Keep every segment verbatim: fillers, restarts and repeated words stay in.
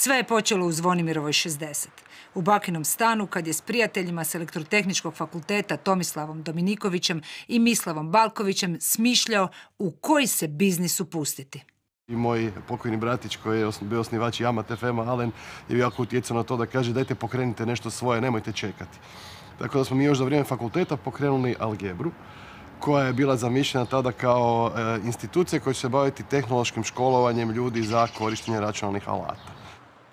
Sve je počelo u Zvonimirovoj šezdeset. U bakinom stanu, kad je s prijateljima s Elektrotehničkog fakulteta Tomislavom Dominikovićem i Mislavom Balkovićem smišljao u koji se biznis upustiti. I moj pokojni bratić koji je bio osnivač Yamat F M-a, Alen, je jako utjecao na to da kaže dajte pokrenite nešto svoje, nemojte čekati. Tako da smo mi još za vrijeme fakulteta pokrenuli Algebru, koja je bila zamišljena tada kao e, institucija koja će se baviti tehnološkim školovanjem ljudi za korištenje računalnih alata.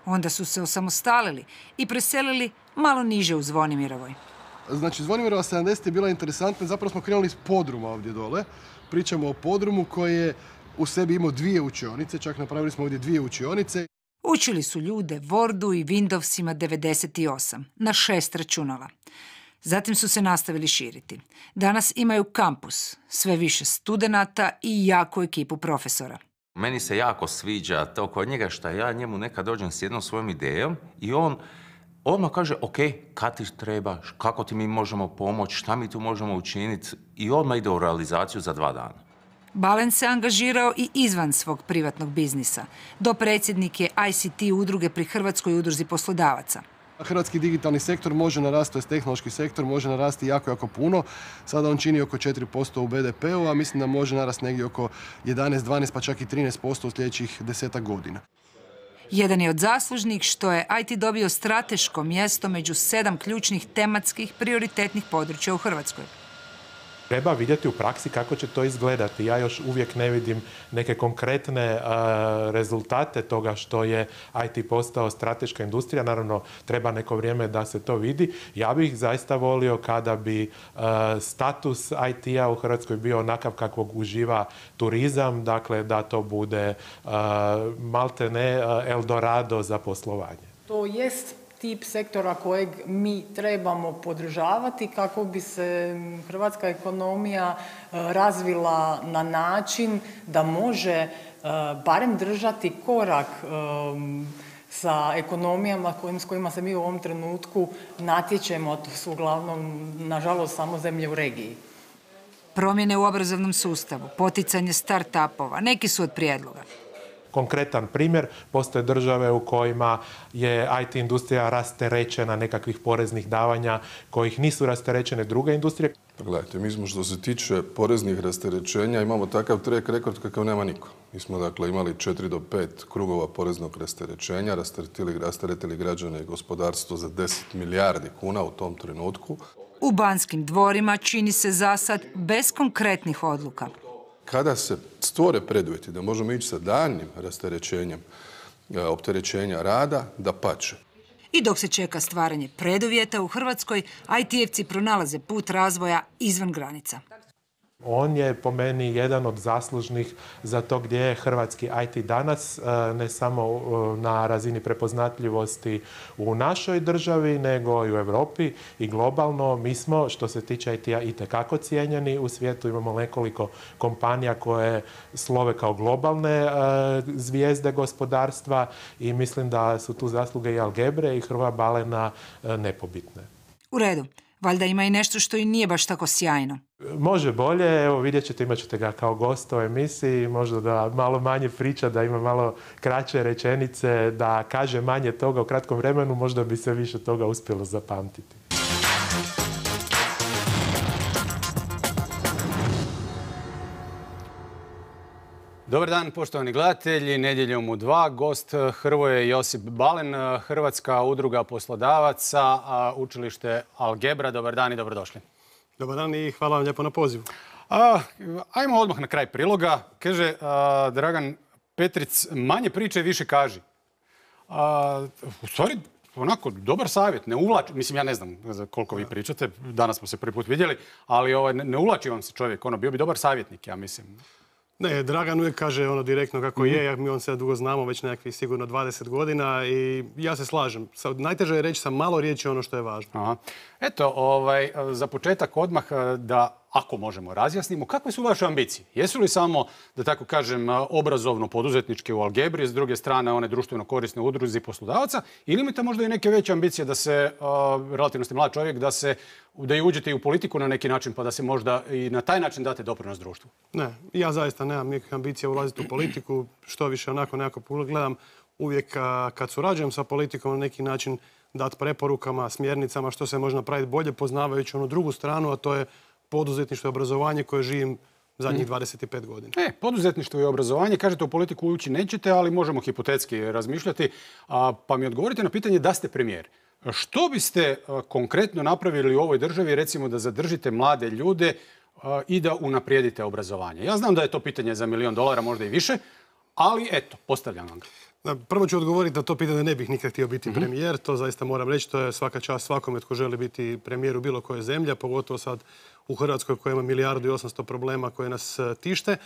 Onda su se osamostalili i preselili malo niže u Zvonimirovoj. Znači, Zvonimirova sedamdeset je bila interesantna, zapravo smo krenuli iz podruma ovdje dole. Pričamo o podrumu koji je u sebi imao dvije učionice, čak napravili smo ovdje dvije učionice. Učili su ljude Wordu i Windowsima devedeset osam na šest računala. Zatim su se nastavili širiti. Danas imaju kampus, sve više studenata i jaku ekipu profesora. Meni se jako sviđa to kod njega što ja njemu nekad dođem s jednom svojom idejom i on odmah kaže, ok, kad ti treba, kako ti mi možemo pomoći, šta mi tu možemo učiniti i odmah ide u realizaciju za dva dana. Balen se angažirao i izvan svog privatnog biznisa. Dopredsjednik je I C T udruge pri Hrvatskoj udruzi poslodavaca. Hrvatski digitalni sektor može narasti, to je tehnološki sektor, može narasti jako, jako puno. Sada on čini oko četiri posto u B D P-u, a mislim da može narasti negdje oko jedanaest, dvanaest pa čak i trinaest posto u sljedećih desetak godina. Jedan je od zaslužnih što je I T dobio strateško mjesto među sedam ključnih tematskih prioritetnih područja u Hrvatskoj. Treba vidjeti u praksi kako će to izgledati. Ja još uvijek ne vidim neke konkretne uh, rezultate toga što je I T postao strateška industrija. Naravno, treba neko vrijeme da se to vidi. Ja bih zaista volio kada bi uh, status I T-a u Hrvatskoj bio onakav kakvog uživa turizam, dakle da to bude uh, maltene uh, Eldorado za poslovanje. To jest tip sektora kojeg mi trebamo podržavati kako bi se hrvatska ekonomija razvila na način da može barem držati korak sa ekonomijama s kojima se mi u ovom trenutku natječemo. To su uglavnom, nažalost, samo zemlje u regiji. Promjene u obrazovnom sustavu, poticanje start-upova, neki su od prijedloga. Konkretan primjer, postoje države u kojima je I T industrija rasterećena nekakvih poreznih davanja kojih nisu rasterećene druge industrije. Pa gledajte, mi smo što se tiče poreznih rasterećenja imamo takav track rekord kakav nema niko. Mi smo dakle imali četiri do pet krugova poreznog rasterećenja, rasteretili, rasteretili građane i gospodarstvo za deset milijardi kuna u tom trenutku. U Banskim dvorima čini se zasad bez konkretnih odluka. Kada se stvore preduvjeti da možemo ići sa daljnjim rasterećenjem opterećenja rada, dapače. I dok se čeka stvaranje preduvjeta u Hrvatskoj, I T-evci pronalaze put razvoja izvan granica. On je po meni jedan od zaslužnih za to gdje je hrvatski I T danas, ne samo na razini prepoznatljivosti u našoj državi, nego i u Europi i globalno. Mi smo, što se tiče I T-a, itekako cijenjeni u svijetu. Imamo nekoliko kompanija koje slove kao globalne zvijezde gospodarstva i mislim da su tu zasluge i Algebre i Hrvoja Balena nepobitne. U redu. Valjda ima i nešto što i nije baš tako sjajno. Može bolje, evo vidjet ćete, imat ćete ga kao gosta u emisiji, možda da malo manje priča, da ima malo kraće rečenice, da kaže manje toga u kratkom vremenu, možda bi se više toga uspjelo zapamtiti. Dobar dan, poštovani gledatelji. Nedjeljom u dva gost Hrvoje Josip Balen, Hrvatska udruga poslodavaca, učilište Algebra. Dobar dan i dobrodošli. Dobar dan i hvala vam lijepo na pozivu. A, ajmo odmah na kraj priloga. Kaže a, Dragan Petric, manje priče, više kaži. A, u stvari, onako, dobar savjet, ne uvlači, mislim, ja ne znam koliko vi pričate, danas smo se prvi put vidjeli, ali ovaj, ne, ne uvlači vam se čovjek, ono, bio bi dobar savjetnik, ja mislim. Ne, Dragan uvijek kaže ono direktno kako mm-hmm. je, mi on se dugo znamo, već nekakvih sigurno dvadeset godina i ja se slažem. Najteže je reći sa malo riječi ono što je važno. Aha. Eto, ovaj, za početak odmah da, ako možemo, razjasnimo, kakve su vaše ambicije? Jesu li samo, da tako kažem, obrazovno-poduzetničke u Algebri, s druge strane one društveno korisne udruzi poslodavaca, ili imate možda i neke veće ambicije da se, relativno ste mlad čovjek, da se da i uđete i u politiku na neki način, pa da se možda i na taj način date doprinos društvu? Ne, ja zaista nemam nikakve ambicije ulaziti u politiku, što više onako nekako gledam uvijek kad surađujem sa politikom na neki način dati preporukama, smjernicama što se može napraviti bolje, poznavajući onu drugu stranu, a to je poduzetništvo i obrazovanje koje živim zadnjih dvadeset pet godina. E, poduzetništvo i obrazovanje, kažete u politiku ući nećete, ali možemo hipotetski razmišljati. A, pa mi odgovorite na pitanje da ste premijer. Što biste a, konkretno napravili u ovoj državi, recimo da zadržite mlade ljude a, i da unaprijedite obrazovanje? Ja znam da je to pitanje za milion dolara, možda i više, ali eto, postavljam vam ga. Prvo ću odgovoriti na to pitanje da ne bih nikad htio biti premijer. To zaista moram reći. To je svaka čast svakome tko želi biti premijer u bilo kojoj zemlji, pogotovo sad u Hrvatskoj koja ima milijardu i osamsto problema koje nas tište.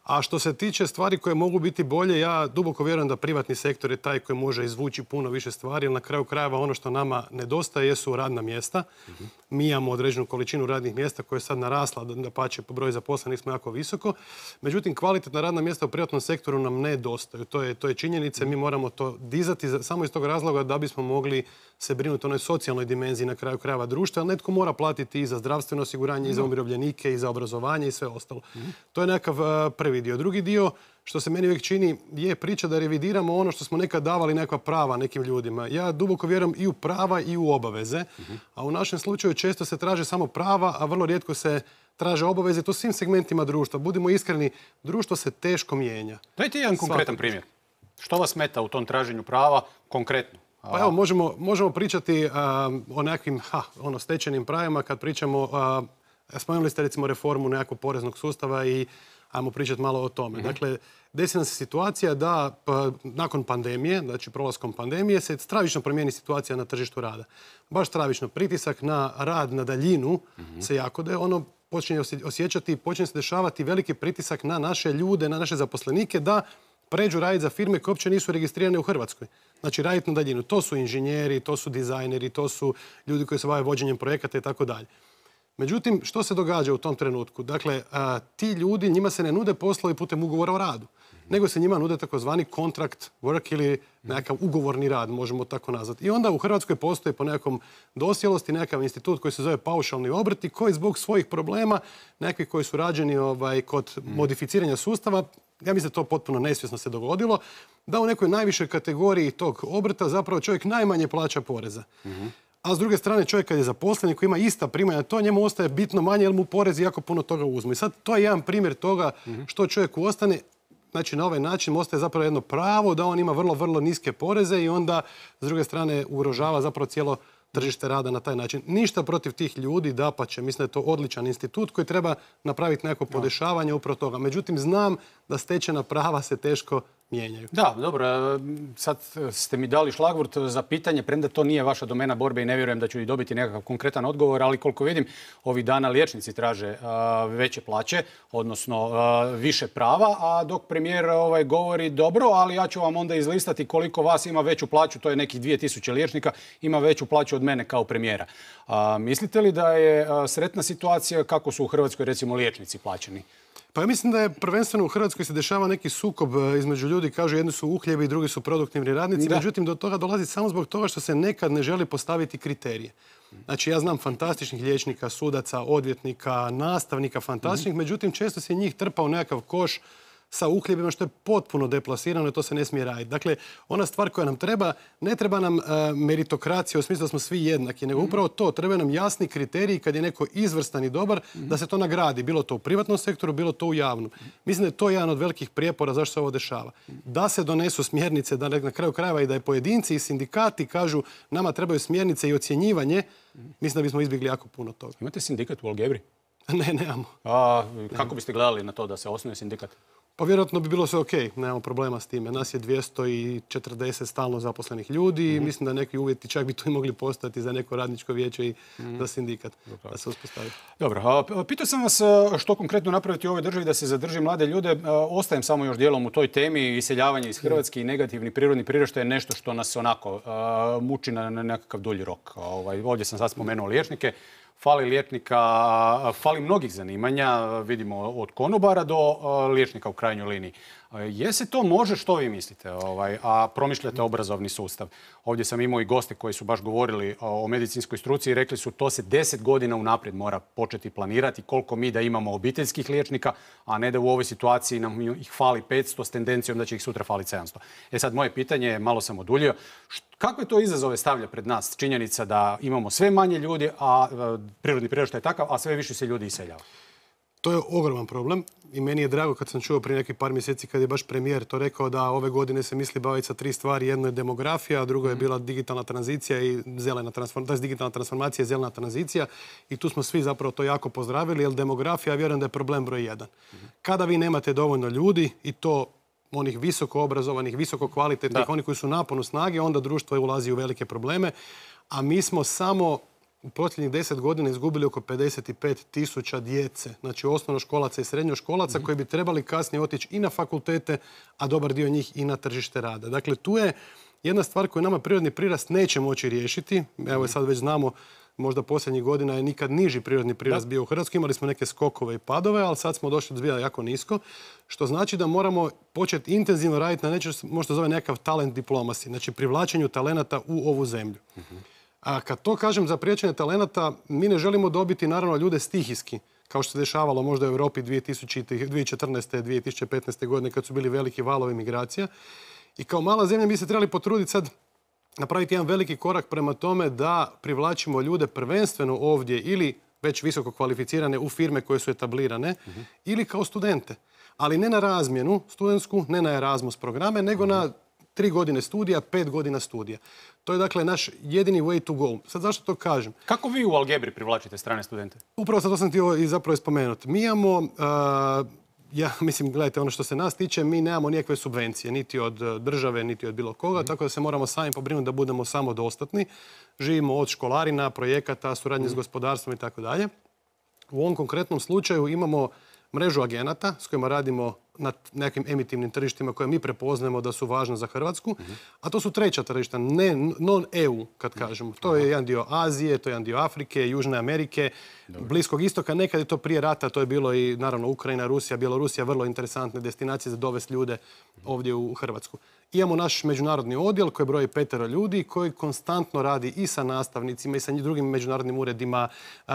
A što se tiče stvari koje mogu biti bolje, ja duboko vjerujem da privatni sektor je taj koji može izvući puno više stvari, jer na kraju krajeva ono što nama nedostaje jesu radna mjesta. Uh-huh. Mi imamo određenu količinu radnih mjesta koja je sad narasla, dapače po broju zaposlenih smo jako visoko. Međutim, kvalitetna radna mjesta u privatnom sektoru nam nedostaju. To je, to je činjenica. Mi moramo to dizati samo iz tog razloga da bismo mogli se brinuti o onoj socijalnoj dimenziji na kraju krajeva društva, ali netko mora platiti i za zdravstveno osiguranje, i za umirovljenike, i za obrazovanje i sve ostalo. Mm-hmm. To je nekakav uh, prvi dio. Drugi dio, što se meni uvijek čini, je priča da revidiramo ono što smo nekad davali nekakva prava nekim ljudima. Ja duboko vjerujem i u prava i u obaveze, mm-hmm. a u našem slučaju često se traže samo prava, a vrlo rijetko se traže obaveze. To svim segmentima društva. Budimo iskreni, društvo se teško mijenja. Dajte jedan konkretan Svaki. primjer. Što vas smeta u tom traženju prava konkretno? Pa evo, možemo, možemo pričati uh, o nekakvim ha, ono, stečenim pravima kad pričamo, uh, spomenuli ste recimo reformu nekakvog poreznog sustava i ajmo pričati malo o tome. Mm-hmm. Dakle, desi nam se situacija da pa, nakon pandemije, znači prolaskom pandemije, se stravično promijeni situacija na tržištu rada. Baš stravično. Pritisak na rad na daljinu mm-hmm. se jako da ono počinje osjećati, počinje se dešavati veliki pritisak na naše ljude, na naše zaposlenike da pređu raditi za firme koje uopće nisu registrirane u Hrvatskoj. Znači raditi na daljinu. To su inženjeri, to su dizajneri, to su ljudi koji se bave vođenjem projekata i tako dalje. Međutim, što se događa u tom trenutku? Dakle, a, ti ljudi, njima se ne nude poslovi putem ugovora o radu, mm-hmm. nego se njima nude takozvani contract work ili nekakav ugovorni rad, možemo tako nazvati. I onda u Hrvatskoj postoji po nekakvom dosjelosti nekakav institut koji se zove paušalni obrti, koji zbog svojih problema, nekakvi koji su rađeni ovaj, kod mm-hmm. modificiranja sustava, ja mislim da to potpuno nesvjesno se dogodilo, da u nekoj najvišoj kategoriji tog obrta zapravo čovjek najmanje plaća poreza. Mm-hmm. A s druge strane čovjek kad je zaposlen koji ima ista primanja, to njemu ostaje bitno manje jer mu porezi jako puno toga uzmu. I sad to je jedan primjer toga što čovjeku ostane. Znači na ovaj način ostaje zapravo jedno pravo da on ima vrlo, vrlo niske poreze i onda s druge strane ugrožava zapravo cijelo tržište rada na taj način. Ništa protiv tih ljudi, dapače, mislim da je to odličan institut koji treba napraviti neko podešavanje upravo toga. Međutim, znam da stečena prava se teško mijenjaju. Da, dobro. Sad ste mi dali šlagvort za pitanje, premda to nije vaša domena borbe i ne vjerujem da ću i dobiti nekakav konkretan odgovor, ali koliko vidim, ovih dana liječnici traže a, veće plaće, odnosno a, više prava, a dok premijer ovaj, govori dobro, ali ja ću vam onda izlistati koliko vas ima veću plaću, to je nekih dvije tisuće liječnika, ima veću plaću od mene kao premijera. A, mislite li da je a, sretna situacija kako su u Hrvatskoj recimo liječnici plaćeni? Pa ja mislim da je prvenstveno u Hrvatskoj se dešava neki sukob između ljudi, kažu jedni su uhljebi, drugi su produktivni radnici, da. Međutim do toga dolazi samo zbog toga što se nekad ne želi postaviti kriterije. Znači ja znam fantastičnih liječnika, sudaca, odvjetnika, nastavnika fantastičnih, mm-hmm. međutim često se njih trpa u nekakav koš sa uhljebima što je potpuno deplasirano i to se ne smije raditi. Dakle, ona stvar koja nam treba, ne treba nam uh, meritokracija u smislu da smo svi jednaki, nego upravo to, treba nam jasni kriteriji kad je neko izvrstan i dobar, mm-hmm. da se to nagradi, bilo to u privatnom sektoru, bilo to u javnom. Mislim da je to jedan od velikih prijepora zašto se ovo dešava. Da se donesu smjernice, da na kraju krajeva i da je pojedinci i sindikati kažu nama trebaju smjernice i ocjenjivanje, mislim da bismo izbjegli jako puno toga. Imate sindikat u Algebri? Ne, nemamo. A kako biste gledali na to da se osnuje sindikat? Pa vjerojatno bi bilo sve ok, nemamo problema s time. Nas je dvjesto četrdeset stalno zaposlenih ljudi i mm-hmm. mislim da neki uvjeti čak bi tu i mogli postati za neko radničko vijeće i mm-hmm. za sindikat Dobro. Da se uspostavi. Dobro, pitao sam vas što konkretno napraviti u ovoj državi da se zadrži mlade ljude. Ostajem samo još dijelom u toj temi. Iseljavanje iz Hrvatske i negativni prirodni priraštaj je nešto što nas onako muči na nekakav dulji rok. Ovdje sam sad spomenuo liječnike. fali liječnika, fali mnogih zanimanja, vidimo od konobara do liječnika u krajnjoj liniji. Je se to može, što vi mislite, ovaj, a promišljate obrazovni sustav? Ovdje sam imao i goste koji su baš govorili o medicinskoj struci i rekli su to se deset godina unaprijed mora početi planirati, koliko mi da imamo obiteljskih liječnika, a ne da u ovoj situaciji nam ih fali petsto s tendencijom da će ih sutra faliti sedamsto. E sad, moje pitanje je, malo sam oduljio, kakve to izazove stavlja pred nas činjenica da imamo sve manje ljudi, a prirodni priraštaj je takav, a sve više se ljudi iseljava? To je ogroman problem i meni je drago kad sam čuo prije nekih par mjeseci kad je baš premijer to rekao da ove godine se misli baviti sa tri stvari. Jedno je demografija, a drugo je bila digitalna tranzicija i zelena transformacija, digitalna transformacija i zelena tranzicija. I tu smo svi zapravo to jako pozdravili, jer demografija, vjerujem da je problem broj jedan. Kada vi nemate dovoljno ljudi i to onih visoko obrazovanih, visoko kvalitetnih, oni koji su naponu snage, onda društvo ulazi u velike probleme. A mi smo samo u posljednjih deset godina izgubili oko pedeset pet tisuća djece, znači osnovnoškolaca i srednjoškolaca, koji bi trebali kasnije otići i na fakultete, a dobar dio njih i na tržište rada. Dakle, tu je jedna stvar koju nama prirodni prirast neće moći riješiti. Evo sad već znamo, možda posljednjih godina je nikad niži prirodni prirast bio u Hrvatskoj. Imali smo neke skokove i padove, ali sad smo došli do zbilja jako nisko, što znači da moramo početi intenzivno raditi na nečem što možda zove nekakav talent diplomasi, znači privlačenju talenata u ovu zemlju. A kad to kažem za priječenje talenata, mi ne želimo dobiti naravno ljude stihijski, kao što se dešavalo možda u Europi dvije tisuće četrnaeste. dvije tisuće petnaeste. godine kad su bili veliki valovi migracija. I kao mala zemlja mi se trebali potruditi sad napraviti jedan veliki korak prema tome da privlačimo ljude prvenstveno ovdje ili već visoko kvalificirane u firme koje su etablirane uh-huh. ili kao studente. Ali ne na razmjenu studentsku, ne na Erasmus programe, nego uh-huh. na tri godine studija, pet godina studija. To je dakle naš jedini way to go. Sad zašto to kažem? Kako vi u Algebri privlačite strane studente? Upravo sad to sam htio i zapravo spomenuti. Mi imamo, uh, ja mislim, gledajte, ono što se nas tiče, mi nemamo nikakve subvencije, niti od države, niti od bilo koga, mm. tako da se moramo sami pobrinuti da budemo samodostatni. Živimo od školarina, projekata, suradnje mm. s gospodarstvom i tako dalje. U ovom konkretnom slučaju imamo mrežu agenata s kojima radimo na nekim emitivnim tržištima koje mi prepoznajemo da su važna za Hrvatsku, uh-huh. a to su treća tržišta, ne non-E U kad kažemo. To je jedan dio Azije, to je jedan dio Afrike, Južne Amerike, Dobre. Bliskog istoka. Nekad je to prije rata, to je bilo i naravno Ukrajina, Rusija, Bjelorusija, vrlo interesantne destinacije za dovesti ljude ovdje u Hrvatsku. Imamo naš međunarodni odjel koji broji petero ljudi koji konstantno radi i sa nastavnicima i sa drugim međunarodnim uredima,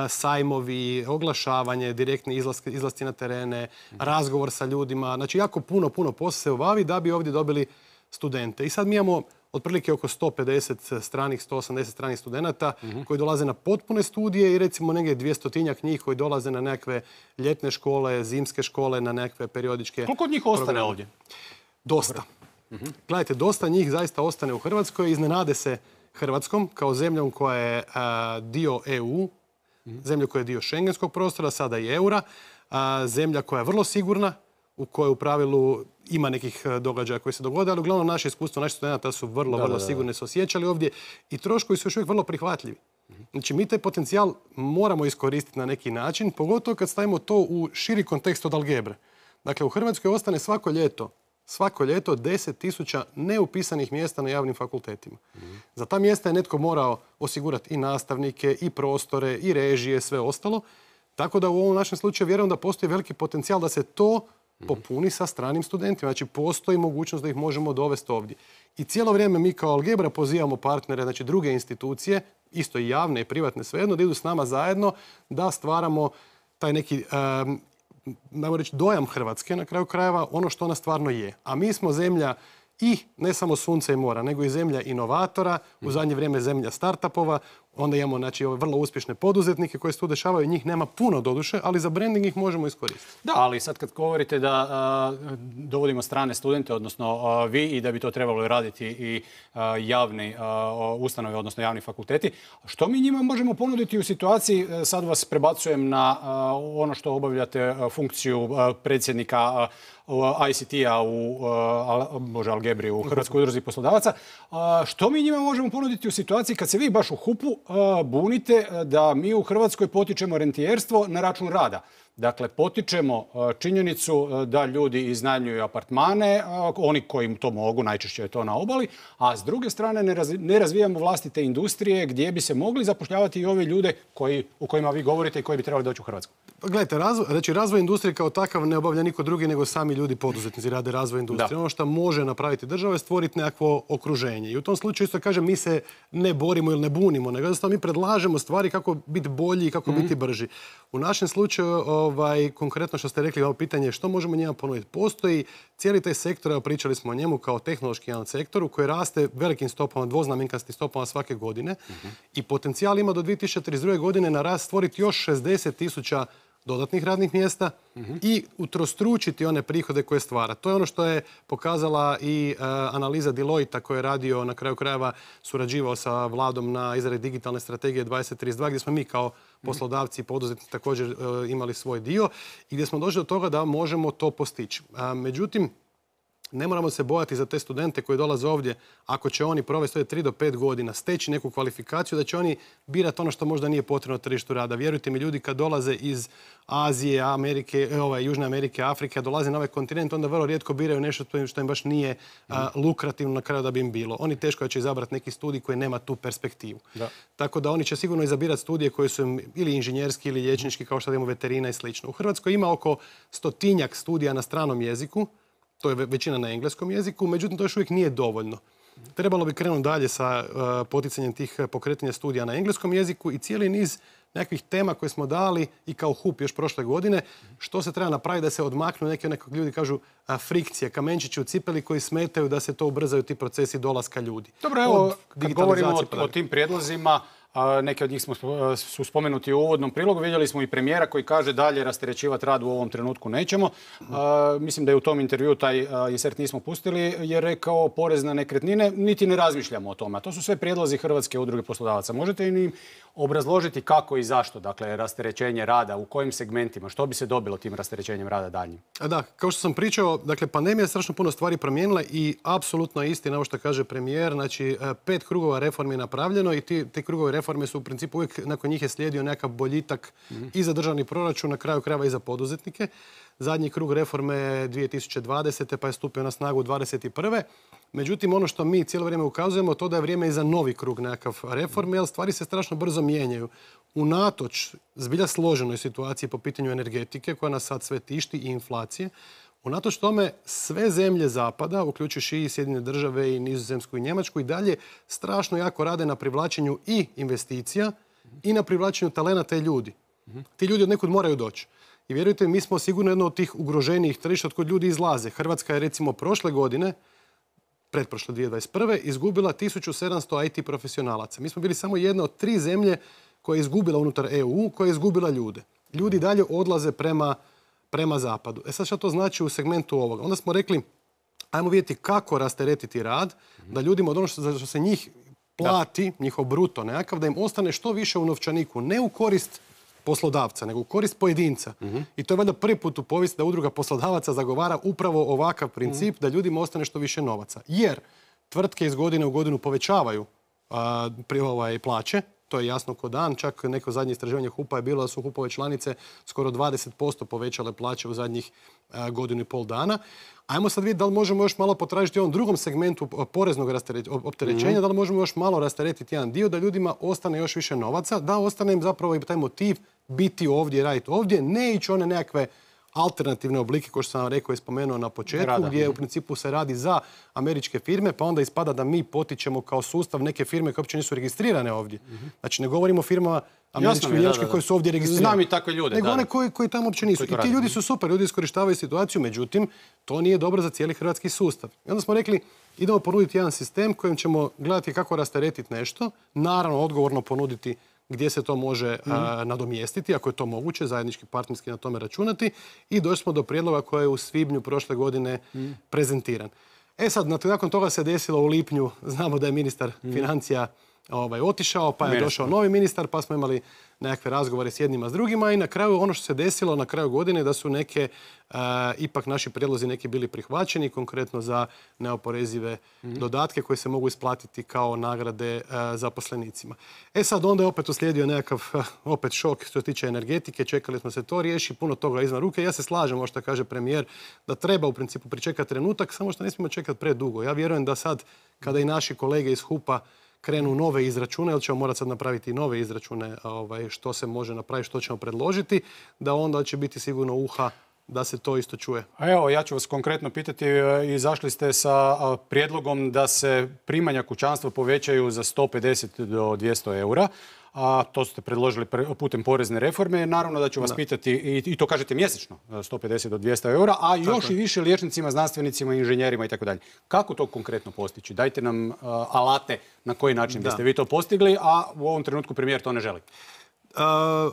sajmovi, oglašavanje, direktni izlaski, izlasci na terene, razgovor sa ljudima. Znači, jako puno, puno posla se obavi da bi ovdje dobili studente. I sad mi imamo otprilike oko sto pedeset stranih, sto osamdeset stranih studenata uh-huh. koji dolaze na potpune studije i recimo negdje dvjestotinjak njih koji dolaze na nekakve ljetne škole, zimske škole, na nekakve periodičke... Koliko od njih ostane programe. Ovdje? Dosta. Uh-huh. Gledajte, dosta njih zaista ostane u Hrvatskoj. Iznenade se Hrvatskom kao zemljom koja je a, dio E U, uh-huh. zemlja koja je dio šengenskog prostora, sada i eura, a, zemlja koja je vrlo sigurna, u kojoj u pravilu ima nekih događaja koji se dogode, ali uglavnom naše iskustvo, naši studenta su vrlo, da, vrlo da, da. sigurni, se osjećali ovdje i troškovi su još uvijek vrlo prihvatljivi. Znači, mi taj potencijal moramo iskoristiti na neki način, pogotovo kad stavimo to u širi kontekst od algebre. Dakle, u Hrvatskoj ostane svako ljeto, svako ljeto deset tisuća neupisanih mjesta na javnim fakultetima. Mm-hmm. Za ta mjesta je netko morao osigurati i nastavnike, i prostore, i režije, sve ostalo. Tako da u ovom našem slučaju vjerujem da postoji veliki potencijal da se to popuni sa stranim studentima. Znači, postoji mogućnost da ih možemo dovesti ovdje. I cijelo vrijeme mi kao Algebra pozivamo partnere, znači druge institucije, isto i javne i privatne, svejedno, da idu s nama zajedno, da stvaramo taj neki, um, najmo reći, dojam Hrvatske, na kraju krajeva, ono što ona stvarno je. A mi smo zemlja i ne samo sunca i mora, nego i zemlja inovatora, u zadnje vrijeme zemlja startupova. Onda imamo, znači, ove vrlo uspješne poduzetnike koji se tu dešavaju. Njih nema puno doduše, ali za branding ih možemo iskoristiti. Da, ali sad kad govorite da a, dovodimo strane studente, odnosno a, vi, i da bi to trebalo raditi i a, javni a, ustanove, odnosno javni fakulteti, što mi njima možemo ponuditi u situaciji, sad vas prebacujem na a, ono što obavljate a, funkciju a, predsjednika a, I C T-a u a, Bože, Algebri u Hrvatskoj udruzi poslodavaca. A, što mi njima možemo ponuditi u situaciji kad se vi baš u hupu bunite da mi u Hrvatskoj potičemo rentijerstvo na račun rada? Dakle, potičemo činjenicu da ljudi iznajmljuju apartmane, oni koji to mogu, najčešće je to na obali, a s druge strane ne razvijamo vlastite industrije gdje bi se mogli zapošljavati i ovi ljude koji, o kojima vi govorite i koji bi trebali doći u Hrvatsku. Gledajte, razvoj, znači razvoj industrije kao takav ne obavlja niko drugi nego sami ljudi poduzetnici rade razvoj industrije. Da. Ono što može napraviti država je stvoriti nekakvo okruženje. I u tom slučaju isto kažem, mi se ne borimo ili ne bunimo, nego jednostavno mi predlažemo stvari kako biti bolji i kako mm-hmm. biti brži. U našem slučaju, ovaj, konkretno što ste rekli, ovo pitanje što možemo njima ponuditi. Postoji cijeli taj sektor, evo pričali smo o njemu kao tehnološki jedan sektoru koji raste velikim stopama, dvoznamenkastim stopama svake godine mm-hmm. i potencijal ima do dvije tisuće trideset druge godine na rast stvoriti još šezdeset tisuća dodatnih radnih mjesta mm-hmm. i utrostručiti one prihode koje stvara. To je ono što je pokazala i uh, analiza Deloitte koja je radio na kraju krajeva, surađivao sa vladom na izradi digitalne strategije dvadeset trideset dva gdje smo mi kao poslodavci i poduzetnici također uh, imali svoj dio i gdje smo došli do toga da možemo to postići. Uh, međutim, ne moramo se bojati za te studente koji dolaze ovdje, ako će oni provesti ovdje tri do pet godina, steći neku kvalifikaciju, da će oni birati ono što možda nije potrebno tržištu rada. Vjerujte mi, ljudi kad dolaze iz Azije, Amerike, ovaj, Južne Amerike, Afrike, a dolaze na ovaj kontinent, onda vrlo rijetko biraju nešto što im baš nije a, lukrativno na kraju da bi im bilo. Oni teško će izabrati neki studij koji nema tu perspektivu. Da. Tako da oni će sigurno izabirati studije koji su im ili inženjerski ili liječnički, kao što imamo veterina i slično. U Hrvatskoj ima oko stotinjak studija na stranom jeziku. To je većina na engleskom jeziku, međutim to još uvijek nije dovoljno. Trebalo bi krenuti dalje sa uh, poticanjem tih pokretanja studija na engleskom jeziku i cijeli niz nekakvih tema koje smo dali i kao H U P još prošle godine, što se treba napraviti da se odmaknu neke, nekog ljudi kažu a, frikcije, kamenčići u cipeli koji smetaju da se to ubrzaju ti procesi dolaska ljudi. Dobro, evo, kad govorimo o, o tim prijedlozima, neki od njih smo, su spomenuti u uvodnom prilogu. Vidjeli smo i premijera koji kaže dalje rasterećivati rad u ovom trenutku nećemo. A, mislim da je u tom intervju taj a, insert nismo pustili, je rekao porez na nekretnine, niti ne razmišljamo o tome. A to su sve prijedlozi Hrvatske udruge poslodavaca. Možete im obrazložiti kako i zašto, dakle, rasterećenje rada, u kojim segmentima, što bi se dobilo tim rasterećenjem rada daljnjim? Da, kao što sam pričao, dakle, pandemija je strašno puno stvari promijenila i apsolutno je istina ovo što kaže premijer. Znači, pet krugova reformi je napravljeno i ti, te krugove reforme su u principu uvijek, nakon njih je slijedio nekakav boljitak mm-hmm. i za državni proračun, na kraju krajeva i za poduzetnike. Zadnji krug reforme je dvije tisuće dvadesete pa je stupio na snagu dvadeset prve Međutim, ono što mi cijelo vrijeme ukazujemo, to da je vrijeme i za novi krug nekakav reforme, jer stvari se strašno brzo mijenjaju. Unatoč zbilja složenoj situaciji po pitanju energetike, koja nas sad sve tišti, i inflacije, unatoč tome sve zemlje zapada, uključujući i Sjedinjene države i Nizozemsku i Njemačku, i dalje strašno jako rade na privlačenju i investicija i na privlačenju talenata i ljudi. Ti ljudi od nekud moraju doći. I vjerujte, mi smo sigurno jedno od tih ugroženijih tržišta od kod ljudi izlaze. Hrvatska je recimo prošle godine, pretprošle dvije tisuće dvadeset prve izgubila tisuću sedamsto I T profesionalaca. Mi smo bili samo jedna od tri zemlje koja je izgubila unutar E U, koja je izgubila ljude. Ljudi dalje odlaze prema, prema zapadu. E sad što to znači u segmentu ovoga? Onda smo rekli, ajmo vidjeti kako rasteretiti rad, da ljudima od ono što, što se njih plati, da. njihov bruto nekakav, da im ostane što više u novčaniku, ne u korist poslodavca, nego u korist pojedinca. Mm-hmm. I to je valjda prvi put u povijesti da udruga poslodavaca zagovara upravo ovakav princip, mm-hmm. da ljudima ostane što više novaca. Jer tvrtke iz godine u godinu povećavaju a, pri, ovaj, plaće, to je jasno ko dan. Čak neko zadnje istraživanje H U P-a je bilo da su H U P-ove članice skoro dvadeset posto povećale plaće u zadnjih a, godinu i pol dana. Ajmo sad vidjeti da li možemo još malo potražiti u ovom drugom segmentu poreznog opterećenja, mm-hmm. da li možemo još malo rasteretiti jedan dio da ljudima ostane još više novaca, da ostane im zapravo i taj motiv biti ovdje, raditi ovdje, ne ići one nekakve alternativne oblike, kao što sam vam rekao i spomenuo na početku, Rada. gdje u principu se radi za američke firme, pa onda ispada da mi potičemo kao sustav neke firme koje uopće nisu registrirane ovdje. Mm-hmm. Znači, ne govorimo o firmama američke i njemačke koje su ovdje registrirane. Znam i takve ljude. Nego da, one koji, koji tamo uopće nisu. I ti ljudi su super, ljudi iskorištavaju situaciju, međutim, to nije dobro za cijeli hrvatski sustav. I onda smo rekli, idemo ponuditi jedan sistem kojim ćemo gledati kako rasteretiti nešto, naravno odgovorno ponuditi gdje se to može mm. a, nadomjestiti, ako je to moguće, zajednički partnerski na tome računati. I došli smo do prijedloga koji je u svibnju prošle godine mm. prezentiran. E sad, nakon toga se desilo u lipnju, znamo da je ministar mm. financija ovaj, otišao, pa je došao novi ministar, pa smo imali nekakve razgovore s jednima s drugima i na kraju ono što se desilo na kraju godine da su neke, uh, ipak naši prijedlozi neki bili prihvaćeni, konkretno za neoporezive mm-hmm. dodatke koje se mogu isplatiti kao nagrade uh, zaposlenicima. E sad onda je opet uslijedio nekakav uh, opet šok što se tiče energetike, čekali smo se to riješi, puno toga izvan ruke. Ja se slažem, ovo što kaže premijer, da treba u principu pričekati trenutak, samo što ne smijemo čekati predugo. Ja vjerujem da sad, kada i naši kolege iz hupa krenu nove izračune, ili ćemo morati sad napraviti nove izračune ovaj, što se može napraviti, što ćemo predložiti, da onda će biti sigurno uha da se to isto čuje. A evo, ja ću vas konkretno pitati, izašli ste sa prijedlogom da se primanja kućanstva povećaju za sto pedeset do dvjesto eura. A to ste predložili putem porezne reforme. Naravno da ću vas da. pitati, i, i to kažete mjesečno, sto pedeset do dvjesto eura, a još Tako. i više liječnicima, znanstvenicima, inženjerima i tako dalje. Kako to konkretno postići? Dajte nam uh, alate na koji način da. biste vi to postigli, a u ovom trenutku premijer to ne želi. Uh,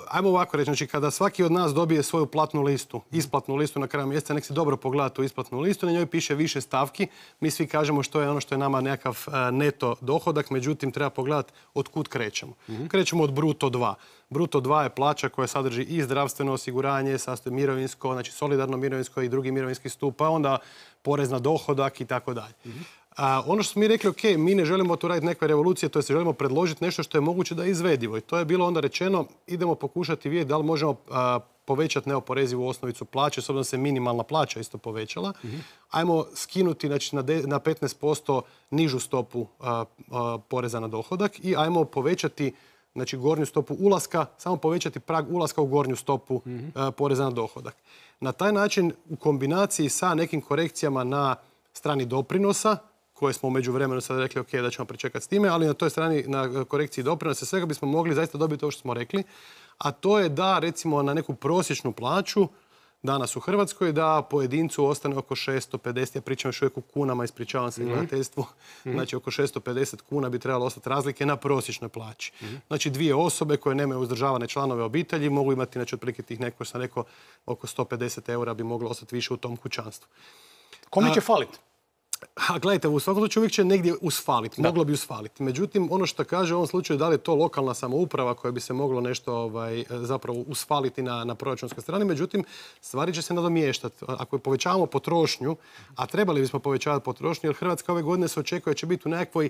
ajmo ovako reći, znači kada svaki od nas dobije svoju platnu listu, isplatnu listu na kraju mjeseca, nek se dobro pogleda tu isplatnu listu, na njoj piše više stavki. Mi svi kažemo što je ono što je nama nekakav uh, neto dohodak, međutim treba pogledati od kud krećemo. Mm-hmm. Krećemo od bruto dva. Bruto dva je plaća koja sadrži i zdravstveno osiguranje, sastoji mirovinsko, znači solidarno mirovinsko i drugi mirovinski stup, pa onda porez na dohodak i tako dalje. A ono što smo mi rekli, ok, mi ne želimo tu raditi neke revolucije, to je želimo predložiti nešto što je moguće da je izvedivo. I to je bilo onda rečeno, idemo pokušati vidjeti da li možemo a, povećati neoporezivu osnovicu plaće, s obzirom da se minimalna plaća isto povećala. Mm-hmm. Ajmo skinuti znači, na, de, na petnaest posto nižu stopu a, a, poreza na dohodak i ajmo povećati znači, gornju stopu ulaska, samo povećati prag ulaska u gornju stopu mm-hmm. a, poreza na dohodak. Na taj način, u kombinaciji sa nekim korekcijama na strani doprinosa, koje smo u međuvremenu sad rekli ok, da ćemo pričekati s time, ali na toj strani, na korekciji doprinosa, svega bismo mogli zaista dobiti ovo što smo rekli, a to je da recimo na neku prosječnu plaću danas u Hrvatskoj da pojedincu ostane oko šesto pedeset, ja pričam još uvijek u kunama, ispričavam se gledateljstvu, mm-hmm. znači oko šesto pedeset kuna bi trebalo ostati razlike na prosječnoj plaći. Mm-hmm. Znači dvije osobe koje nemaju uzdržavane članove obitelji mogu imati, znači otprilike tih neko, sam rekao, oko sto pedeset eura bi moglo ostati više u tom kućanstvu. Kome će faliti? A gledajte, u svakom slučaju uvijek će negdje usfaliti, moglo bi usfaliti. Međutim, ono što kaže u ovom slučaju da li je to lokalna samouprava koja bi se moglo nešto ovaj, zapravo usfaliti na, na proračunskoj strani, međutim, stvari će se nadomještati. Ako povećavamo potrošnju, a trebali bismo povećavati potrošnju, jer Hrvatska ove godine se očekuje da će biti u nekakvoj,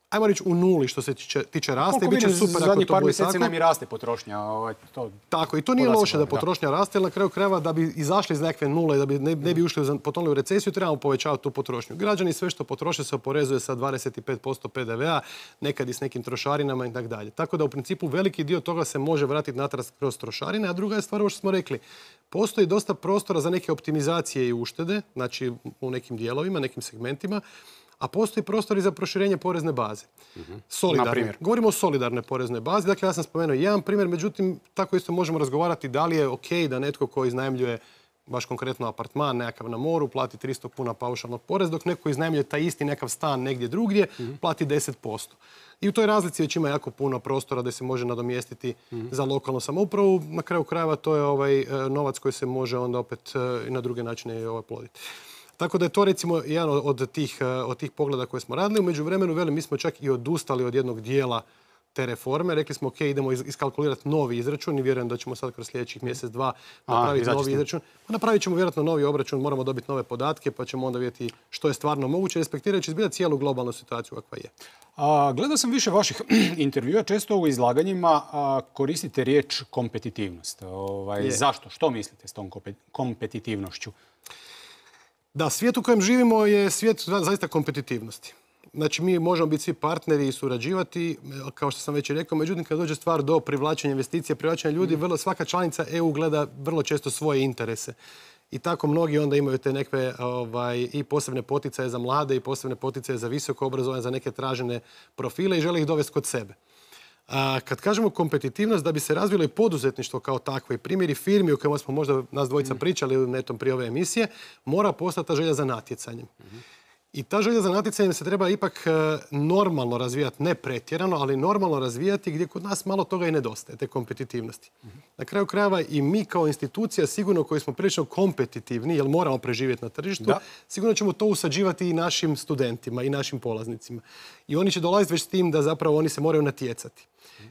ajmo reći, u nuli što se tiče, tiče raste. Koliko vidim, super zadnjih par mjeseci nam i raste potrošnja. Ovaj, to tako, i to nije loše da potrošnja da. raste, jer na kraju krajeva da bi izašli iz nekakve nule, da bi ne, ne bi ušli potonuli u recesiju, trebamo povećavati tu potrošnju. Građani sve što potroše se oporezuje sa dvadeset pet posto pe de ve a, nekad i s nekim trošarinama i tako dalje. Tako da u principu veliki dio toga se može vratiti natrag kroz trošarine, a druga je stvar ovo što smo rekli. Postoji dosta prostora za neke optimizacije i uštede, znači u nekim dijelovima, nekim segmentima, a postoji prostor i za proširenje porezne baze. Mm-hmm. Solidarne. Govorimo o solidarnoj poreznoj bazi. Dakle, ja sam spomenuo jedan primjer, međutim, tako isto možemo razgovarati da li je ok da netko ko iznajmljuje baš konkretno apartman nekakav na moru plati tristo kuna paušalnog poreza, dok neko iznajmljuje taj isti nekakav stan negdje drugdje, mm-hmm. plati deset posto. I u toj razlici već ima jako puno prostora da se može nadomjestiti mm-hmm. za lokalnu samoupravu. Na kraju krajeva to je ovaj novac koji se može onda opet i na druge načine ovaj ploditi. Tako da je to recimo jedan od tih, od tih pogleda koje smo radili. U međuvremenu, velim, mi smo čak i odustali od jednog dijela te reforme. Rekli smo, ok, idemo iskalkulirati novi izračun i vjerujem da ćemo sad kroz sljedećih mjesec, dva napraviti A, novi izračun. Pa napravit ćemo vjerojatno novi obračun, moramo dobiti nove podatke pa ćemo onda vidjeti što je stvarno moguće, respektirajući zbilja cijelu globalnu situaciju kakva je. A, gledao sam više vaših intervjua, često u izlaganjima a, koristite riječ kompetitivnost. Ovaj, zašto? Što mislite s tom kompetitivnošću? Da, svijet u kojem živimo je svijet zaista kompetitivnosti. Znači, mi možemo biti svi partneri i surađivati, kao što sam već i rekao, međutim, kad dođe stvar do privlačenja investicija, privlačenja ljudi, vrlo, svaka članica E U gleda vrlo često svoje interese. I tako mnogi onda imaju te nekve ovaj, i posebne poticaje za mlade i posebne poticaje za visoko obrazovanje, za neke tražene profile i žele ih dovesti kod sebe. A kad kažemo kompetitivnost, da bi se razvilo i poduzetništvo kao takvo i primjeri firmi o kojima smo možda nas dvojica pričali netom prije ove emisije, mora postati ta želja za natjecanjem. I ta želja za natjecanjem se treba ipak e, normalno razvijati, ne pretjerano, ali normalno razvijati gdje kod nas malo toga i nedostaje, te kompetitivnosti. Na kraju krajeva i mi kao institucija, sigurno koji smo prilično kompetitivni, jer moramo preživjeti na tržištu, Da. sigurno ćemo to usađivati i našim studentima i našim polaznicima. I oni će dolaziti već s tim da zapravo oni se moraju natjecati.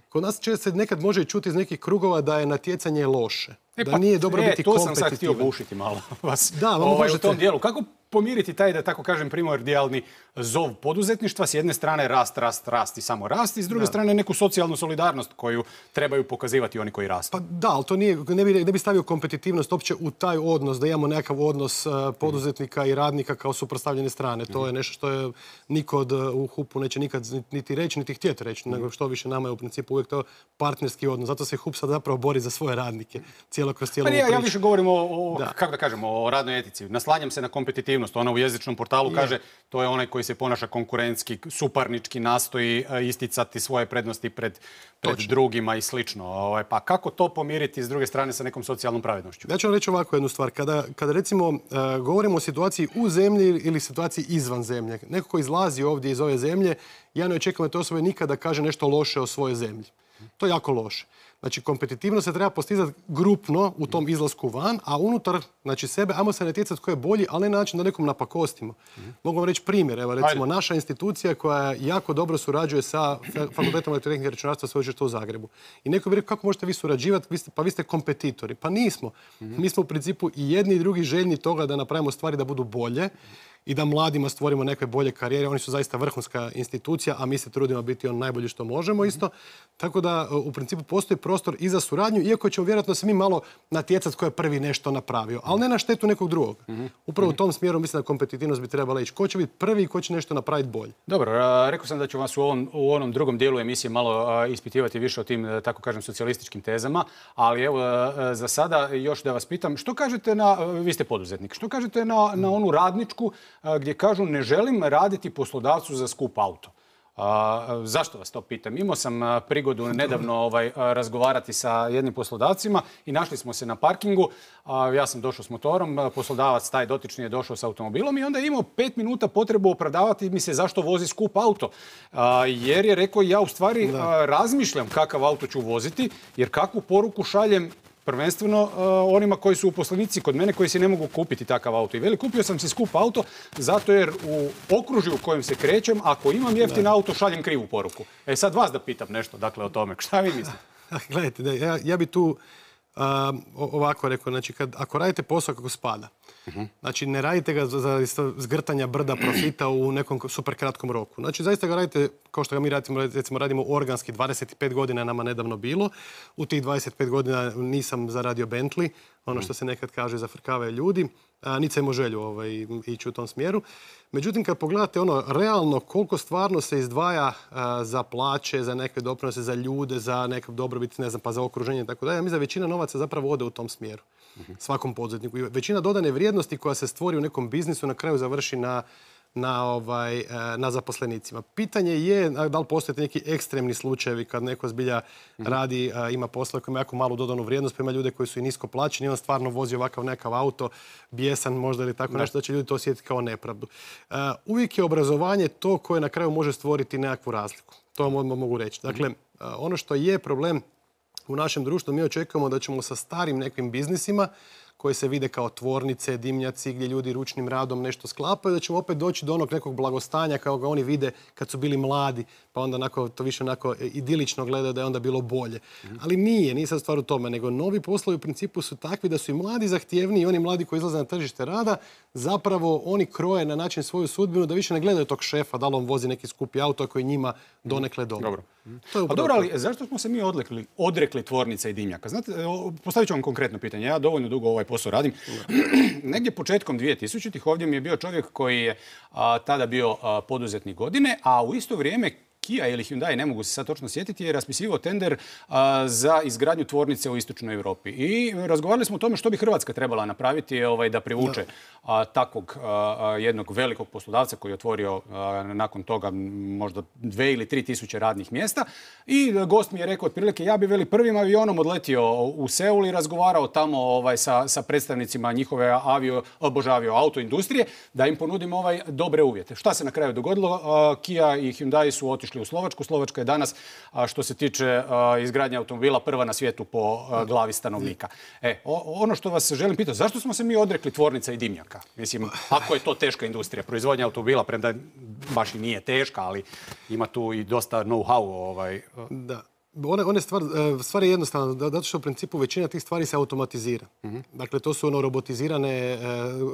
Kod nas će se nekad može i čuti iz nekih krugova da je natjecanje loše. E, da pa, nije dobro e, biti to kompetitivan. sam sad htio bušiti malo vas Da, vam ovaj, u možete. tom dijelu. Kako pomiriti taj, da tako kažem, primordijalni zov poduzetništva? S jedne strane rast, rast, rast i samo rast, i s druge strane neku socijalnu solidarnost koju trebaju pokazivati oni koji rastu. Pa da, ali to nije, ne bi, ne bi stavio kompetitivnost uopće u taj odnos, da imamo nekakav odnos uh, poduzetnika i radnika kao suprotstavljene strane. To je nešto što je niko od, uh, u hupu neće nikad niti reći, niti htjeti reći, nego što više nama je u principu uvijek to partnerski odnos. Zato se hup sad zapravo bori za svoje radnike cijelo kroz cijelu Pa nije, ovu ja priču. više govorim o, o Da. kako da kažem, o radnoj etici. Naslanjam se na kompetitivnost. Ona u jezičnom portalu Je. kaže to je onaj koji se ponaša konkurentski, suparnički, nastoji e, isticati svoje prednosti pred, pred drugima i slično. Ovaj, pa kako to pomiriti s druge strane sa nekom socijalnom pravednošću? Ja ću vam reći ovako jednu stvar. Kada, kada recimo uh, govorimo o situaciji u zemlji ili situaciji izvan zemlje, neko ko izlazi ovdje iz ove zemlje, ja ne očekujem da te osobe nikada kaže nešto loše o svojoj zemlji. To je jako loše. Znači, kompetitivnost se treba postizati grupno u tom izlasku van, a unutar znači, sebe, ajmo se natjecati tko je bolji, ali ne na način da nekom napakostimo. Mogu vam reći primjer. Evo, recimo, Ajde. naša institucija koja jako dobro surađuje sa Fakultetom elektrotehnike i računarstva Sveučilišta u Zagrebu. I neko bi rekao, kako možete vi surađivati, vi ste, pa vi ste kompetitori. Pa nismo. Mi smo u principu i jedni i drugi željni toga da napravimo stvari da budu bolje i da mladima stvorimo neke bolje karijere. Oni su zaista vrhunska institucija, a mi se trudimo biti on najbolji što možemo isto. Tako da u principu postoji prostor i za suradnju, iako ćemo vjerojatno se mi malo natjecati ko je prvi nešto napravio, ali ne na štetu nekog drugog. Upravo u tom smjeru mislim da kompetitivnost bi trebala ići. Ko će biti prvi i ko će nešto napraviti bolje. Dobro, a, rekao sam da ću vas u, ovom, u onom drugom dijelu emisije malo a, ispitivati više o tim, tako kažem, socijalističkim tezama, ali evo, a, za sada još da vas pitam, što kažete na, vi ste poduzetnik, što kažete na, na onu radničku a, gdje kažu ne želim raditi poslodavcu za skup auto? A, zašto vas to pitam? Imao sam a, prigodu nedavno ovaj, a, razgovarati sa jednim poslodavcima i našli smo se na parkingu. A, ja sam došao s motorom, a, poslodavac taj dotični je došao s automobilom i onda je imao pet minuta potrebu opravdavati mi se zašto vozi skup auto. A, jer je rekao ja u stvari a, razmišljam kakav auto ću voziti, jer kakvu poruku šaljem prvenstveno uh, onima koji su uposlenici kod mene koji si ne mogu kupiti takav auto. I veli, kupio sam si skup auto zato jer u okružju u kojem se krećem, ako imam jeftin auto, šaljem krivu poruku. E sad vas da pitam nešto dakle o tome. Šta vi mislite? Gledajte, da, ja, ja bi tu a, ovako rekao, znači kad, ako radite posao kako spada, uh-huh. znači ne radite ga za, za zgrtanja brda profita u nekom super kratkom roku. Znači zaista ga radite kao što ga mi radimo, recimo radimo organski, dvadeset pet godina nama nedavno bilo. U tih dvadeset pet godina nisam zaradio Bentley, ono što se nekad kaže zafrkavaju ljudi, a, niti sam imao želju ovaj, ići u tom smjeru. Međutim, kad pogledate ono realno koliko stvarno se izdvaja a, za plaće, za neke doprinose, za ljude, za neke dobrobit, ne znam, pa za okruženje i tako dalje, ja mislim da većina novaca zapravo ode u tom smjeru. Svakom poduzetniku. I većina dodane vrijednosti koja se stvori u nekom biznisu na kraju završi na Na, ovaj, na zaposlenicima. Pitanje je da li postoje neki ekstremni slučajevi kad neko zbilja radi, ima posla koji ima jako malu dodanu vrijednost, pa ima ljude koji su i nisko plaćeni i on stvarno vozi ovakav nekav auto, bijesan možda ili tako nešto, da će ljudi to osjetiti kao nepravdu. Uvijek je obrazovanje to koje na kraju može stvoriti nekakvu razliku. To vam mogu reći. Dakle, ono što je problem u našem društvu, mi očekujemo da ćemo sa starim nekim biznisima koje se vide kao tvornice, dimnjaci, gdje ljudi ručnim radom nešto sklapaju, da ćemo opet doći do onog nekog blagostanja kao ga oni vide kad su bili mladi, pa onda onako, to više onako idilično gledaju da je onda bilo bolje. Mm. Ali nije, nije sad stvar u tome, nego novi poslovi u principu su takvi da su i mladi zahtjevniji i oni mladi koji izlaze na tržište rada, zapravo oni kroje na način svoju sudbinu da više ne gledaju tog šefa, da li on vozi neki skupi auto koji njima donekle dobro. Dobro. To je A dobro, ali zašto smo se mi odrekli, odrekli tvornica i dimnjaka? Znate, postavit ću vam konkretno pitanje. Ja dovoljno dugo ovaj posao radim. Negdje početkom dvije tisućitih ovdje mi je bio čovjek koji je a, tada bio a, poduzetnik godine, a u isto vrijeme Kia ili Hyundai, ne mogu se sad točno sjetiti, je raspisivao tender za izgradnju tvornice u istočnoj Europi. I razgovarali smo o tome što bi Hrvatska trebala napraviti ovaj, da privuče a, takvog a, jednog velikog poslodavca koji je otvorio a, nakon toga možda dve ili tri tisuće radnih mjesta. I gost mi je rekao otprilike ja bi veli prvim avionom odletio u Seul i razgovarao tamo ovaj, sa, sa predstavnicima njihove avio, bože, avio autoindustrije da im ponudim ovaj dobre uvjete. Šta se na kraju dogodilo? A, Kia i Hyundai su otišli u Slovačku. Slovačka je danas, a, što se tiče a, izgradnje automobila, prva na svijetu po a, glavi stanovnika. E, o, ono što vas želim pitati, zašto smo se mi odrekli tvornica i dimnjaka? Mislim, ako je to teška industrija, proizvodnja automobila, premda baš i nije teška, ali ima tu i dosta know-how. Ovaj. Da. One, one stvar, stvar je jednostavna, zato što u principu većina tih stvari se automatizira. Mm-hmm. Dakle, to su ono robotizirane,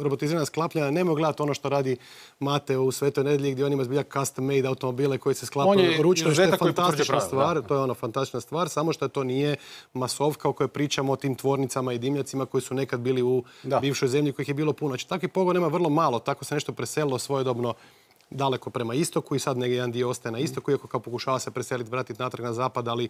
robotizirana sklapljanja. Nemoj gledati ono što radi Mateo u Svetoj Nedelji gdje on ima zbilja custom made automobile koji se sklapaju ručno. Što je fantastična stvar, da. To je ono fantastična stvar, samo što to nije masovka o kojoj pričamo o tim tvornicama i dimnjacima koji su nekad bili u da. bivšoj zemlji kojih je bilo puno. Znači, takvih pogona ima vrlo malo, tako se nešto preselilo svojedobno daleko prema istoku i sad negdje jedan dio ostaje na istoku, iako kao pokušava se preseliti, vratiti natrag na zapad, ali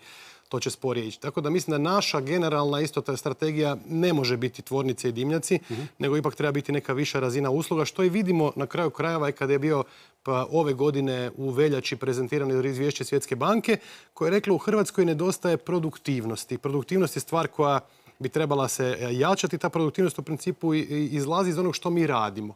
to će sporije ići. Tako da mislim da naša generalna isto ta strategija ne može biti tvornice i dimnjaci, mm-hmm. nego ipak treba biti neka viša razina usluga, što i vidimo na kraju krajeva i kada je bio pa, ove godine u veljači prezentirano izvješće Svjetske banke, koje je reklo u Hrvatskoj nedostaje produktivnosti. Produktivnost je stvar koja bi trebala se jačati. Ta produktivnost u principu izlazi iz onog što mi radimo.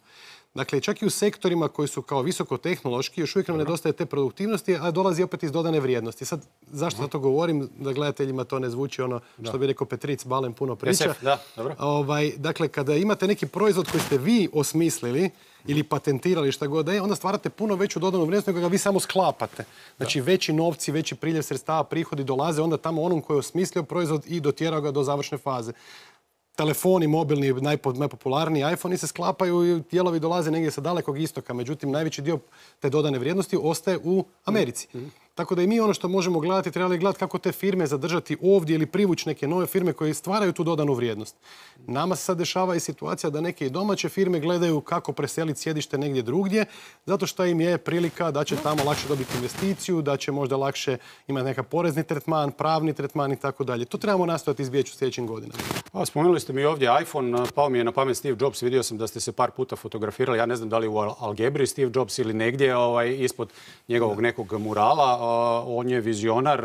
Dakle, čak i u sektorima koji su kao visokotehnološki, još uvijek nam nedostaje te produktivnosti, a dolazi opet iz dodane vrijednosti. Sad, zašto za to govorim? Da gledateljima to ne zvuči ono što bi rekao Petric, Balen puno priča. Da, dobro. Ovaj, dakle, kada imate neki proizvod koji ste vi osmislili ili patentirali šta god da je, onda stvarate puno veću dodanu vrijednost nego ga vi samo sklapate. Znači, da. veći novci, veći priljev sredstava, prihodi dolaze onda tamo onom koji je osmislio proizvod i dotjerao ga do završne faze. Telefoni mobilni, najpopularniji iPhone se sklapaju i dijelovi dolaze negdje sa dalekog istoka. Međutim, najveći dio te dodane vrijednosti ostaje u Americi. Mm-hmm. Tako da i mi ono što možemo gledati, trebali gledati kako te firme zadržati ovdje ili privući neke nove firme koje stvaraju tu dodanu vrijednost. Nama se sad dešava i situacija da neke i domaće firme gledaju kako preseliti sjedište negdje drugdje, zato što im je prilika da će tamo lakše dobiti investiciju, da će možda lakše imati neka porezni tretman, pravni tretman i tako dalje. To trebamo nastojati izbjeći u sljedećim godinama. A, spomenuli ste mi ovdje iPhone, pao mi je na pamet Steve Jobs, vidio sam da ste se par puta fotografirali, ja ne znam da li u Algebri Steve Jobs ili negdje ovaj, ispod njegovog nekog murala. On je vizionar,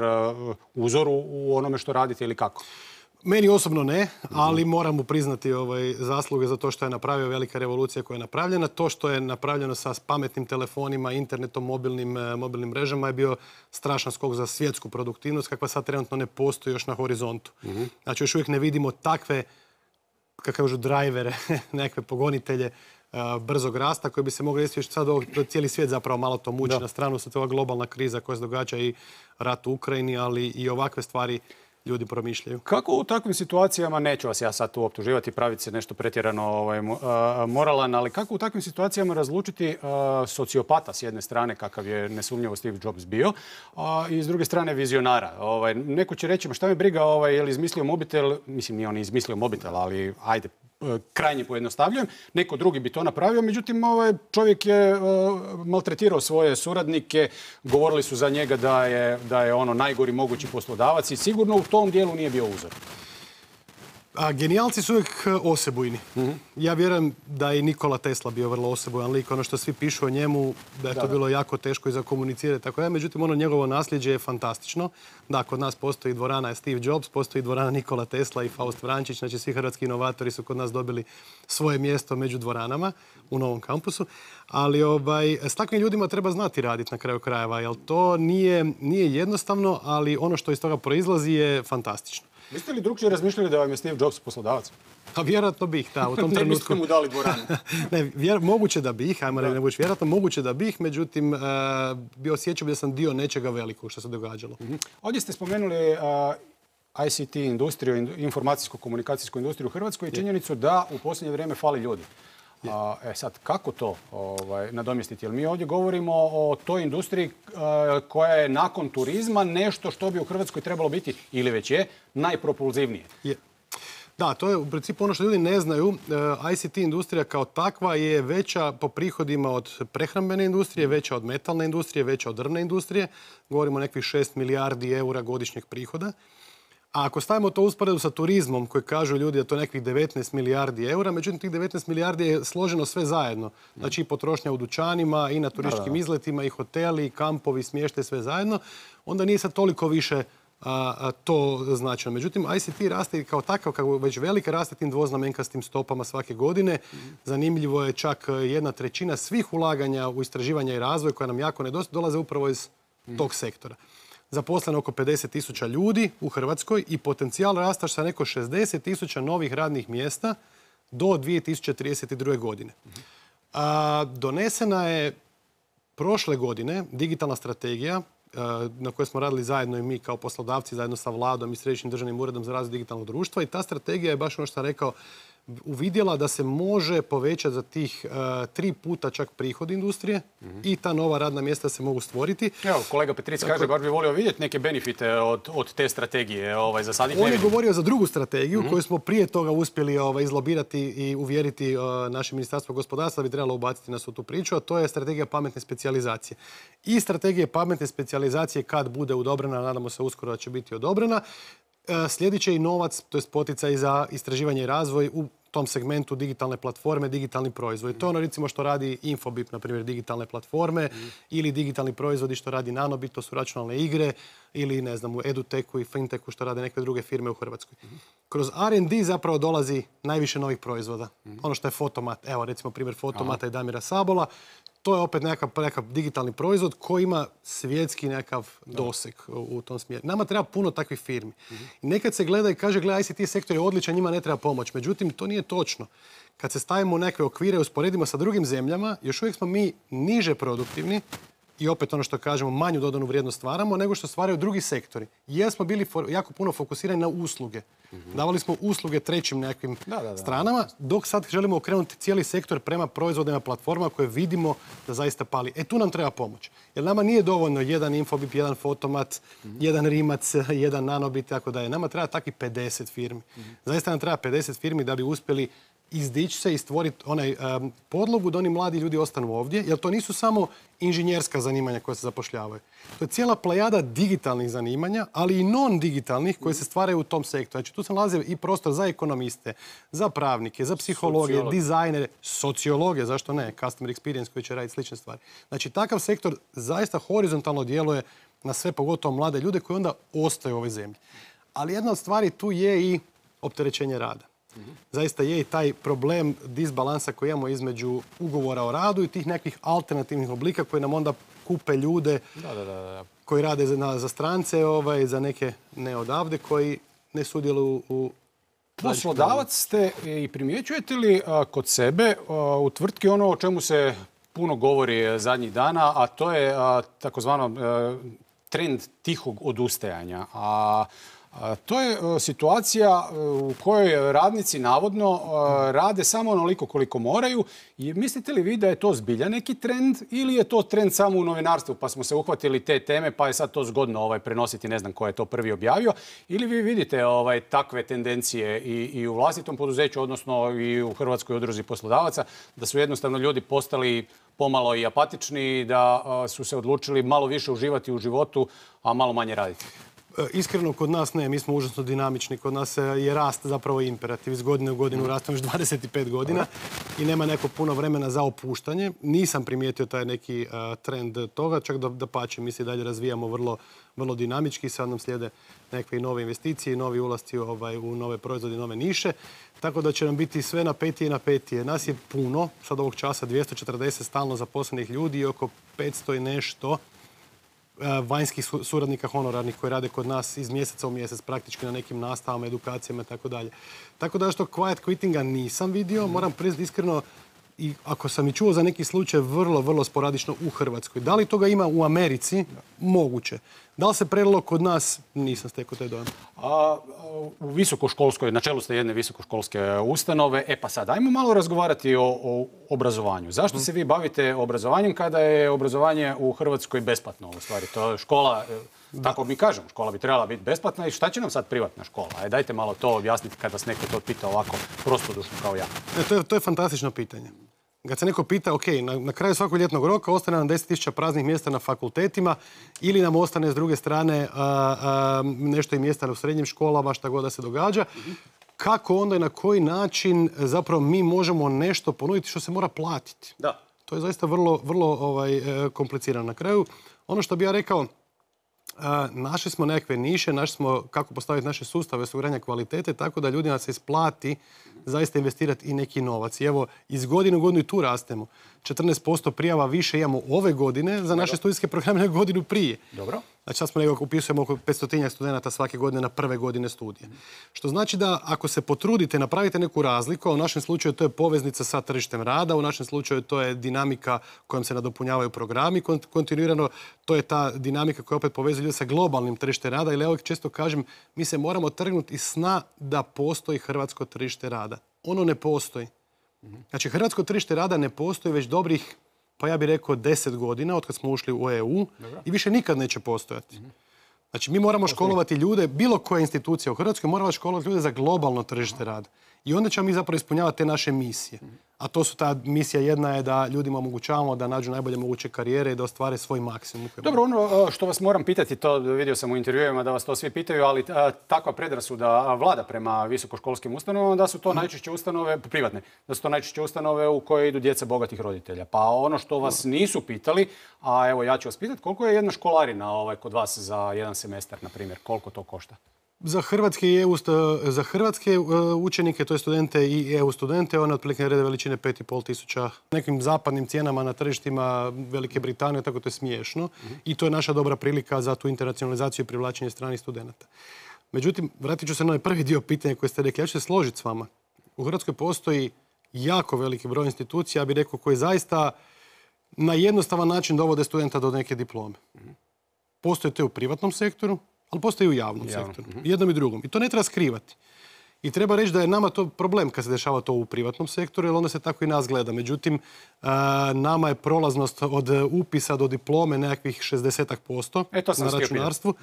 uzor u onome što radite ili kako? Meni osobno ne, ali moram mu priznati ovaj, zasluge za to što je napravio, velika revolucija koja je napravljena. To što je napravljeno sa pametnim telefonima, internetom, mobilnim, mobilnim mrežama je bio strašan skok za svjetsku produktivnost kakva sad trenutno ne postoji još na horizontu. Mm-hmm. Znači još uvijek ne vidimo takve, kako kažu, drajvere, nekakve pogonitelje brzog rasta koji bi se mogli desiti. Sad cijeli svijet zapravo malo to muči. Da. Na stranu se ova globalna kriza koja se događa i rat u Ukrajini, ali i ovakve stvari ljudi promišljaju. Kako u takvim situacijama, neću vas ja sad tu optuživati, praviti se nešto pretjerano ovaj, moralan, ali kako u takvim situacijama razlučiti uh, sociopata s jedne strane, kakav je nesumnjivo Steve Jobs bio, a i s druge strane vizionara. Ovaj, neko će reći, ma šta me briga, ovaj, je li izmislio mobitel, mislim nije on izmislio mobitel, ali ajde, krajnje pojednostavljujem, neko drugi bi to napravio, međutim ovaj čovjek je uh, maltretirao svoje suradnike, govorili su za njega da je, da je ono najgori mogući poslodavac i sigurno u tom dijelu nije bio uzor. A genijalci su uvijek osebujni. Mm-hmm. Ja vjerujem da je Nikola Tesla bio vrlo osebujan lik. Ono što svi pišu o njemu, da je da, to bilo jako teško i za komunicirati. Tako da, međutim, ono njegovo nasljeđe je fantastično. Da, kod nas postoji dvorana Steve Jobs, postoji dvorana Nikola Tesla i Faust Vrančić. Znači, svi hrvatski inovatori su kod nas dobili svoje mjesto među dvoranama u novom kampusu. Ali ovaj, s takvim ljudima treba znati raditi na kraju krajeva, jer to nije, nije jednostavno, ali ono što iz toga proizlazi je fantastično. Biste li drugčije razmišljali da vam je Steve Jobs poslodavac? Pa vjerojatno bih, da, u tom trenutku. Ne biste mu dali dvoranu? Ne, vjer, moguće da bih, ajmo reći, ne budeš vjerojatno, moguće da bih, međutim, uh, bi osjećao da sam dio nečega velikog što se događalo. Uh-huh. Ovdje ste spomenuli uh, I C T industriju, informacijsko-komunikacijsku industriju u Hrvatskoj i činjenicu da u posljednje vrijeme fali ljudi. A, e sad, kako to ovaj, nadomjestiti? Jer mi ovdje govorimo o toj industriji a, koja je nakon turizma nešto što bi u Hrvatskoj trebalo biti, ili već je, najpropulzivnije. Je. Da, to je u principu ono što ljudi ne znaju. I C T industrija kao takva je veća po prihodima od prehrambene industrije, veća od metalne industrije, veća od drvne industrije. Govorimo o nekih šest milijardi eura godišnjeg prihoda. A ako stavimo to u usporedu sa turizmom, koji kažu ljudi da to je nekih devetnaest milijardi eura, međutim tih devetnaest milijardi je složeno sve zajedno. Znači i potrošnja u dućanima, i na turističkim izletima, i hoteli, i kampovi, smještaj, sve zajedno. Onda nije sad toliko više a, a, to značajno. Međutim, I C T raste kao takav, kako već velika, raste tim dvoznamenkastim stopama svake godine. Zanimljivo je čak jedna trećina svih ulaganja u istraživanje i razvoj, koja nam jako nedostaje, dolaze upravo iz tog sektora. Zaposleno oko pedeset tisuća ljudi u Hrvatskoj i potencijal rasta sa neko šezdeset tisuća novih radnih mjesta do dvije tisuće trideset druge. godine. A, donesena je prošle godine digitalna strategija a, na kojoj smo radili zajedno i mi kao poslodavci, zajedno sa vladom i Središnjim državnim uredom za razvoj digitalnog društva, i ta strategija je baš ono što sam rekao, uvidjela da se može povećati za tih uh, tri puta čak prihod industrije mm-hmm. i ta nova radna mjesta se mogu stvoriti. Evo, kolega Petric kaže, dakle, bar bi volio vidjeti neke benefite od, od te strategije. Ovaj, za sad ih ne On je vidim. govorio za drugu strategiju mm-hmm. koju smo prije toga uspjeli ovaj, izlobirati i uvjeriti uh, naše ministarstvo gospodarstva da bi trebalo ubaciti nas u tu priču, a to je strategija pametne specijalizacije. I strategija pametne specijalizacije kad bude odobrena, nadamo se uskoro da će biti odobrena, slijedit će i novac, to je poticaj za istraživanje i razvoj u tom segmentu digitalne platforme, digitalni proizvodi. To je ono recimo što radi Infobip, na primjer digitalne platforme, mm. ili digitalni proizvodi što radi Nanobit, to su računalne igre, ili ne znam u EduTechu i FinTechu što rade neke druge firme u Hrvatskoj. Mm. Kroz R and D zapravo dolazi najviše novih proizvoda. Mm. Ono što je Fotomat, evo recimo primjer Fotomata Aha. i Damira Sabola, to je opet nekakav, nekakav digitalni proizvod koji ima svjetski nekakav doseg u, u tom smjeru. Nama treba puno takvih firmi. Mm-hmm. I nekad se gleda i kaže, gleda, I C T sektor je odličan, njima ne treba pomoć. Međutim, to nije točno. Kad se stavimo u neke okvire i usporedimo sa drugim zemljama, još uvijek smo mi niže produktivni i opet ono što kažemo, manju dodanu vrijednost stvaramo nego što stvaraju drugi sektori. Jer smo bili for, jako puno fokusirani na usluge. Mm-hmm. Davali smo usluge trećim nekakvim da, da, da. stranama, dok sad želimo okrenuti cijeli sektor prema proizvodima platforma koje vidimo da zaista pali. E tu nam treba pomoć. Jer nama nije dovoljno jedan Infobip, jedan Fotomat, mm-hmm. jedan Rimac, jedan Nanobit, tako da je. Nama treba takvih pedeset firmi. Mm-hmm. Zaista nam treba pedeset firmi da bi uspjeli izdići se i stvoriti onaj um, podlogu da oni mladi ljudi ostanu ovdje, jer to nisu samo inženjerska zanimanja koja se zapošljavaju. To je cijela plejada digitalnih zanimanja, ali i non-digitalnih koje se stvaraju u tom sektoru. Znači tu se nalazi i prostor za ekonomiste, za pravnike, za psihologe, Sociolog. dizajnere, sociologe, zašto ne, customer experience koji će raditi slične stvari. Znači takav sektor zaista horizontalno djeluje na sve, pogotovo mlade ljude koji onda ostaju u ovoj zemlji. Ali jedna od stvari tu je i opterećenje rada. Zaista je i taj problem disbalansa koji imamo između ugovora o radu i tih nekih alternativnih oblika koji nam onda kupe ljude da, da, da. koji rade za, za strance, ovaj, za neke ne odavde koji ne sudjeluju u... Poslodavac ste i primjećujete li a, kod sebe a, u tvrtki ono o čemu se puno govori zadnjih dana, a to je a, takozvano a, trend tihog odustajanja. A to je situacija u kojoj radnici navodno rade samo onoliko koliko moraju. I mislite li vi da je to zbilja neki trend ili je to trend samo u novinarstvu pa smo se uhvatili te teme pa je sad to zgodno ovaj, prenositi, ne znam ko je to prvi objavio? Ili vi vidite ovaj, takve tendencije i, i u vlastitom poduzeću, odnosno i u Hrvatskoj udruzi poslodavaca, da su jednostavno ljudi postali pomalo i apatični, da su se odlučili malo više uživati u životu, a malo manje raditi? Iskreno, kod nas ne, mi smo užasno dinamični. Kod nas je rast zapravo imperativ. Iz godine u godinu rastemo još dvadeset pet godina i nema neko puno vremena za opuštanje. Nisam primijetio taj neki uh, trend toga, čak da, da pače. Mi se dalje razvijamo vrlo, vrlo dinamički. Sad nam slijede neke nove investicije, novi ulasci ovaj, u nove proizvode, nove niše. Tako da će nam biti sve napetije i napetije. Nas je puno, sad ovog časa dvjesto četrdeset stalno zaposlenih ljudi i oko petsto i nešto vanjskih suradnika honorarnih koji rade kod nas iz mjeseca u mjesec, praktički na nekim nastavama, edukacijama i tako dalje. Tako da što quiet quittinga nisam vidio, moram priznati iskreno, i ako sam i čuo za neki slučaj vrlo, vrlo sporadično u Hrvatskoj. Da li toga ima u Americi? Moguće. Da li se prelilo kod nas? Nisam stekao taj dojam. A, u visokoškolskoj, na čelu ste jedne visokoškolske ustanove. E pa sad, ajmo malo razgovarati o, o obrazovanju. Zašto se vi bavite obrazovanjem kada je obrazovanje u Hrvatskoj besplatno? U stvari, to je škola Tako mi kažemo, škola bi trebala biti besplatna i šta će nam sad privatna škola? Ajde, dajte malo to objasniti kad vas neko to pita ovako prostodušno kao ja. Ne, to, je, to je fantastično pitanje. Kad se neko pita, ok, na, na kraju svakog ljetnog roka ostane nam deset tisuća praznih mjesta na fakultetima ili nam ostane s druge strane a, a, nešto i mjesta u srednjim školama, šta god da se događa. Kako onda i na koji način zapravo mi možemo nešto ponuditi što se mora platiti? Da. To je zaista vrlo, vrlo ovaj, komplicirano. Na kraju, ono što bi ja rekao, našli smo nekakve niše, našli smo kako postaviti naše sustave osiguranja kvalitete, tako da ljudima se isplati zaista investirati i neki novac. I evo, iz godine u godinu i tu rastemo. četrnaest posto prijava više imamo ove godine za naše studijske programe nego godinu prije. Dobro. Znači sad smo nego upisujemo oko petstotinjak studenata svake godine na prve godine studije. Što znači da ako se potrudite, napravite neku razliku, a u našem slučaju to je poveznica sa tržištem rada, u našem slučaju to je dinamika kojom se nadopunjavaju programi kontinuirano, to je ta dinamika koja opet povezuje ljude sa globalnim tržištem rada, ili ja uvijek često kažem, mi se moramo trgnuti iz sna da postoji hrvatsko tržište rada. Ono ne postoji. Znači, hrvatsko tržište rada ne postoji već dobrih, pa ja bih rekao, deset godina od kad smo ušli u E U i više nikad neće postojati. Znači, mi moramo školovati ljude, bilo koja institucija u Hrvatskoj moramo školovati ljude za globalno tržište rada. I onda ćemo mi zapravo ispunjavati te naše misije. A to su ta misija jedna je da ljudima omogućavamo da nađu najbolje moguće karijere i da ostvare svoj maksimum. Dobro, ono što vas moram pitati, to vidio sam u intervjuima da vas to svi pitaju, ali takva predrasuda vlada prema visokoškolskim ustanovama da su to najčešće ustanove, privatne, da su to najčešće ustanove u koje idu djeca bogatih roditelja. Pa ono što vas nisu pitali, a evo ja ću vas pitati, koliko je jedna školarina ovaj, kod vas za jedan semestar, na primjer, koliko to košta? Za hrvatske, i EU, za hrvatske učenike, to je studente i E U studente, ona otprilike rede veličine pet i pol tisuća. Nekim zapadnim cijenama na tržištima Velike Britanije, tako to je smiješno. I to je naša dobra prilika za tu internacionalizaciju i privlačenje stranih studenata. Međutim, vratit ću se na ovaj prvi dio pitanja koje ste rekli. Ja ću se složiti s vama. U Hrvatskoj postoji jako veliki broj institucija, ja bih rekao, koji zaista na jednostavan način dovode studenta do neke diplome. Postoje to u privatnom sektoru, ali postoji i u javnom Javno. sektoru. Jednom i drugom. I to ne treba skrivati. I treba reći da je nama to problem kad se dešava to u privatnom sektoru, jer onda se tako i nas gleda. Međutim, nama je prolaznost od upisa do diplome nekakvih šezdeset posto e, na računarstvu.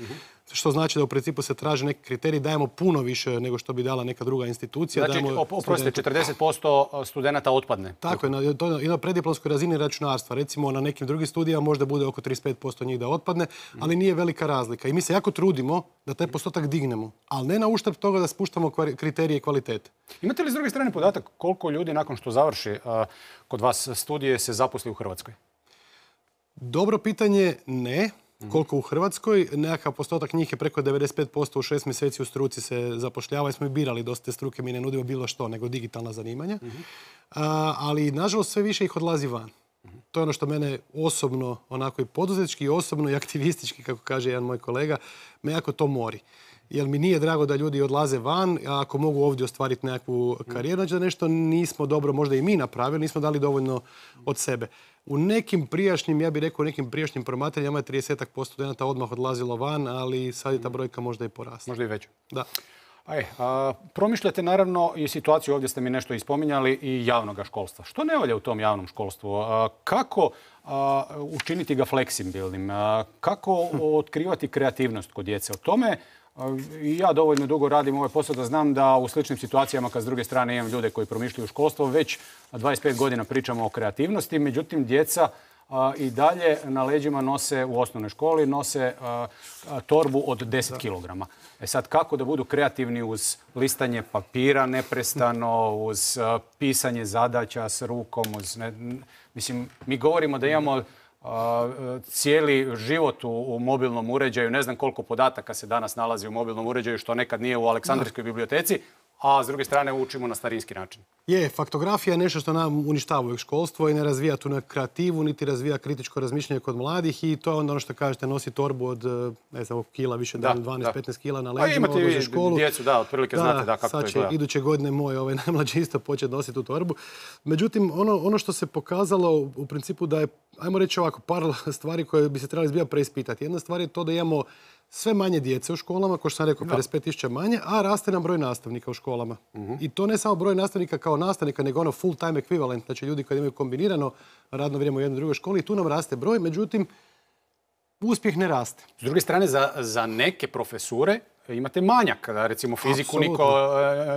Što znači da u principu se traže neki kriterij, dajemo puno više nego što bi dala neka druga institucija. Znači, oprostite, četrdeset posto studenata otpadne. Tako je, to je na preddiplomskoj razini računarstva. Recimo, na nekim drugim studijama možda bude oko trideset pet posto njih da otpadne, ali nije velika razlika. I mi se jako trudimo da taj postotak dignemo, ali ne na uštrb toga da spuštamo kriterije kvalitete. Imate li s druge strane podatak koliko ljudi nakon što završi kod vas studije se zaposli u Hrvatskoj? Dobro pitanje, ne. Koliko u Hrvatskoj, nekakav postotak njih je preko devedeset pet posto u šest mjeseci u struci se zapošljava i smo i birali dosta te struke, mi ne nudimo bilo što nego digitalna zanimanja. A, ali nažalost sve više ih odlazi van. To je ono što mene osobno, onako i poduzetnički, i osobno i aktivistički, kako kaže jedan moj kolega, me jako to mori. Jer mi nije drago da ljudi odlaze van, a ako mogu ovdje ostvariti nekakvu karijeru, znači da nešto nismo dobro, možda i mi napravili, nismo dali dovoljno od sebe. U nekim prijašnjim, ja bih rekao, u nekim prijašnjim promaterijama je trideset posto studenta odmah odlazilo van, ali sad je ta brojka možda i porasla. Možda i veća. Da. Aj, a, promišljate naravno i situaciju, ovdje ste mi nešto ispominjali, i javnog školstva. Što ne valja u tom javnom školstvu? A, kako a, učiniti ga fleksibilnim? A, kako otkrivati kreativnost kod djece? O tome i ja dovoljno dugo radim ovaj posao da znam da u sličnim situacijama, kad s druge strane imam ljude koji promišljaju školstvo, već dvadeset pet godina pričamo o kreativnosti, međutim djeca a, i dalje na leđima nose u osnovnoj školi, nose a, a, torbu od deset kilograma. E sad, kako da budu kreativni uz listanje papira neprestano, uz a, pisanje zadaća s rukom, uz... Ne, mislim, mi govorimo da imamo cijeli život u, u mobilnom uređaju. Ne znam koliko podataka se danas nalazi u mobilnom uređaju, što nekad nije u Aleksandrijskoj biblioteci, a s druge strane učimo na starinski način. Je, faktografija je nešto što nam uništava uvijek školstvo i ne razvija tu kreativu, niti razvija kritičko razmišljanje kod mladih i to je onda ono što kažete, nosi torbu od, ne znam, kila, više da, dvanaest petnaest kila na leđima, odlaze školu. Imate djecu, da, otprilike da, znate da, kako to je. Sad će iduće godine moj ovaj, najmlađi isto početi nositi tu torbu. Međutim, ono, ono što se pokazalo u principu da je, ajmo reći ovako, par stvari koje bi se trebali zbilja preispitati. Jedna stvar je to da imamo sve manje djece u školama, kao što sam rekao, pedeset pet tisuća manje, a raste nam broj nastavnika u školama. Uh-huh. I to ne samo broj nastavnika kao nastavnika, nego ono full time equivalent, znači ljudi koji imaju kombinirano radno vrijeme u jednoj drugoj školi, i tu nam raste broj. Međutim, uspjeh ne raste. S druge strane, za, za neke profesure imate manjak. Recimo fiziku Apsolutno. niko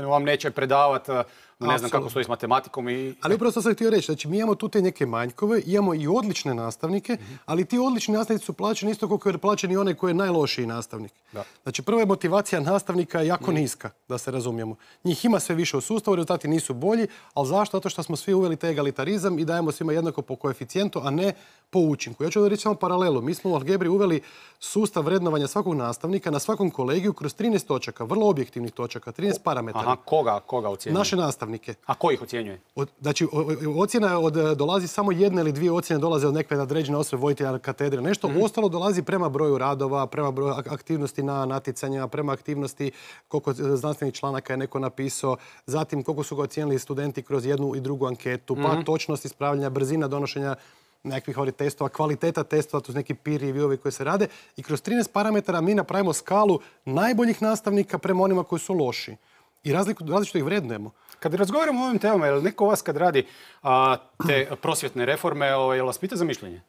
e, vam neće predavati, ne znam kako stoji s matematikom. I... Ali upravo sam htio reći, znači mi imamo tu te neke manjkove, imamo i odlične nastavnike, mm-hmm. ali ti odlični nastavnici su plaćeni isto koliko je plaćen i onaj koji je najlošiji nastavnik. Da. Znači prva je motivacija nastavnika jako mm. niska, da se razumijemo. Njih ima sve više u sustavu, rezultati nisu bolji, ali zašto? Zato što smo svi uveli taj egalitarizam i dajemo svima jednako po koeficijentu, a ne po učinku. Ja ću da reći samo paralelu. Mi smo u Algebri uveli sustav vrednovanja svakog nastavnika na svakom kolegiju kroz trinaest točaka, vrlo objektivnih točaka, trinaest parametara. Aha, koga, koga ocjenjuje? Naše nastavnike. A ko ih ocjenjuje? Od, znači, o, o, ocjena od, dolazi samo jedna ili dvije ocjene dolaze od nekve određene osobe, voditelja katedre, nešto. Mm-hmm. Ostalo dolazi prema broju radova, prema broju aktivnosti na natjecanjima, prema aktivnosti koliko znanstvenih članaka je neko napisao, zatim koliko su ga ocijenili studenti kroz jednu i drugu anketu, pa mm-hmm. točnost ispravljanja, brzina donošenja nekakvih ovih testova, kvaliteta testova, to su neki peer review-ovi koji se rade. I kroz trinaest parametara mi napravimo skalu najboljih nastavnika prema onima koji su loši. I razliku, različito ih vrednujemo. Kad razgovaramo o ovim temama, je li neko vas kad radi a, te prosvjetne reforme, o, je li vas pita za mišljenje?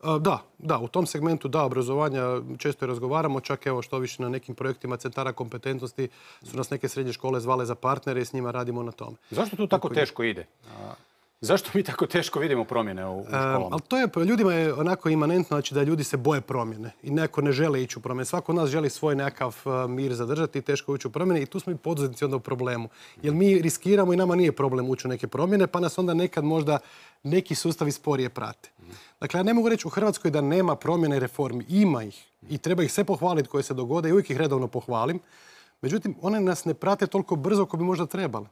A, da, da, u tom segmentu da, obrazovanja često i razgovaramo, čak evo što više na nekim projektima centara kompetentnosti su nas neke srednje škole zvale za partnere i s njima radimo na tome. Zašto to tako teško ide? A... Zašto mi tako teško vidimo promjene u, u školama? Um, ali to je, ljudima je onako imanentno, znači da ljudi se boje promjene i neko ne žele ići u promjene. Svako od nas želi svoj nekakav uh, mir zadržati i teško ući u promjene i tu smo i poduzetnici onda u problemu. Jer mi riskiramo i nama nije problem ući u neke promjene, pa nas onda nekad možda neki sustavi sporije prate. Mm. Dakle, ja ne mogu reći u Hrvatskoj da nema promjene i reformi. Ima ih i treba ih sve pohvaliti koje se dogode i uvijek ih redovno pohvalim. Međutim, one nas ne prate toliko brzo kako bi možda trebalo.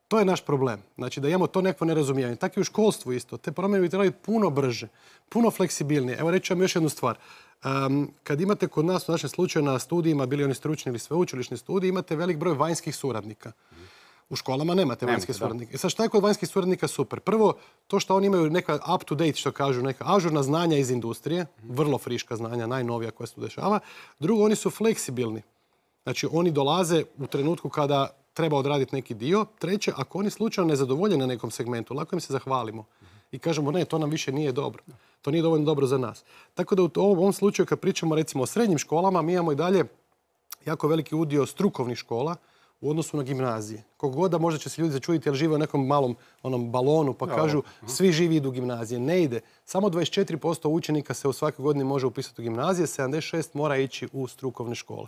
To je naš problem. Znači da imamo to neko nerazumijevanje. Tako i u školstvu isto. Te promjene bi trebali puno brže, puno fleksibilnije. Evo reći vam još jednu stvar. Um, kad imate kod nas u našem slučaju na studijima, bili oni stručni ili sveučilišni studiji, imate velik broj vanjskih suradnika. U školama nemate vanjske Nemate, suradnike. E sad šta je kod vanjskih suradnika super? Prvo, to što oni imaju neka up to date, što kažu, neka ažurna znanja iz industrije, vrlo friška znanja, najnovija koja se tu dešava. Drugo, oni su fleksibilni. Znači oni dolaze u trenutku kada treba odraditi neki dio. Treće, ako oni slučajno ne zadovolje na nekom segmentu, lako im se zahvalimo. I kažemo, ne, to nam više nije dobro. To nije dovoljno dobro za nas. Tako da u ovom slučaju, kad pričamo recimo o srednjim školama, mi imamo i dalje jako veliki udio strukovnih škola u odnosu na gimnazije. Koliko god da možda će se ljudi začuditi jer žive u nekom malom onom balonu pa kažu svi živi idu u gimnazije. Ne ide. Samo dvadeset četiri posto učenika se u svakoj godini može upisati u gimnazije, sedamdeset šest posto mora ići u strukovne škole.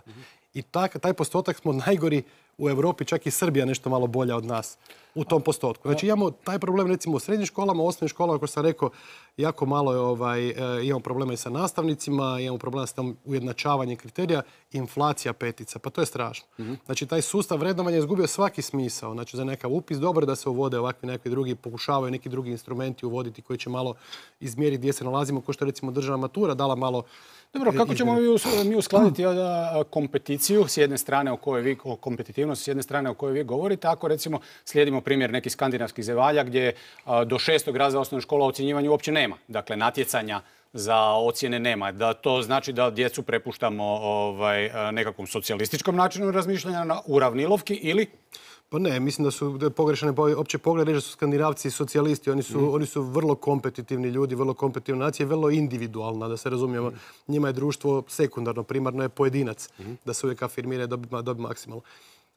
I taj, taj postotak smo najgori u Europi, čak i Srbija nešto malo bolja od nas u tom postotku. Znači imamo taj problem recimo u srednjim školama, u osnovnim školama, kako sam rekao, jako malo je, ovaj, e, imamo problema i sa nastavnicima, imamo problema s tom ujednačavanjem kriterija, inflacija petica, pa to je strašno. Mm-hmm. Znači taj sustav vrednovanja je izgubio svaki smisao. Znači za nekav upis dobro da se uvode ovakvi nekakvi drugi, pokušavaju neki drugi instrumenti uvoditi koji će malo izmjeriti gdje se nalazimo, kao što recimo državna matura dala malo. Dobro, kako ćemo mi uskladiti kompeticiju s jedne strane o kojoj vi, kompetitivnost s jedne strane o kojoj vi govorite, ako recimo slijedimo primjer nekih skandinavskih zemalja gdje do šestog razreda osnovne škole ocjenjivanja uopće nema. Dakle, natjecanja za ocjene nema. Da to znači da djecu prepuštamo ovaj, nekakvom socijalističkom načinu razmišljanja na uravnilovki ili... Pa ne, mislim da su pogrešane opće pogled, da su Skandinavci socijalisti, oni su, mm. oni su vrlo kompetitivni ljudi, vrlo kompetitivna nacija, vrlo individualna, da se razumijemo. Mm. Njima je društvo sekundarno, primarno je pojedinac, mm. da se uvijek afirmira i dobi, dobi maksimalno.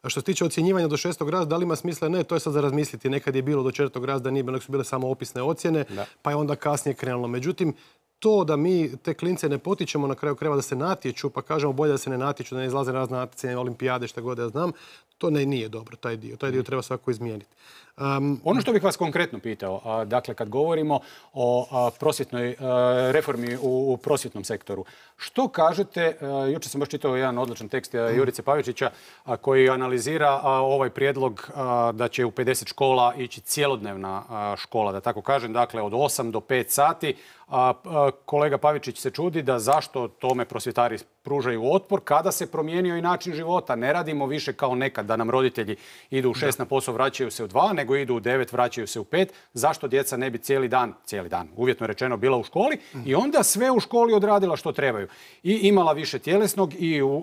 A što se tiče ocjenjivanja do šestog razreda, da li ima smisla? Ne, to je sad za razmisliti. Nekad je bilo do četvrtog razreda, nije bilo, nek su bile samo opisne ocjene, da. Pa je onda kasnije krenulo. Međutim, to da mi te klince ne potičemo na kraju krajeva da se natječu, pa kažemo bolje da se ne natječu, da ne izlaze na razne natjecanje, olimpijade, šta god ja znam, to ne, nije dobro, taj dio. Taj dio treba svako izmijeniti. Um, ono što bih vas konkretno pitao, a, dakle, kad govorimo o a, prosvjetnoj a, reformi u, u prosvjetnom sektoru, što kažete, a, jučer sam baš čitao jedan odličan tekst a, Jurice Pavičića a, koji analizira a, ovaj prijedlog a, da će u pedeset škola ići cjelodnevna a, škola, da tako kažem, dakle od osam do pet sati. A, a, kolega Pavičić se čudi da zašto tome prosvjetari pružaju otpor kada se promijenio i način života. Ne radimo više kao nekad da nam roditelji idu u šest na posao, vraćaju se u dva, nego idu u devet, vraćaju se u pet. Zašto djeca ne bi cijeli dan, cijeli dan, uvjetno rečeno, bila u školi i onda sve u školi odradila što trebaju. I imala više tjelesnog i uh, uh,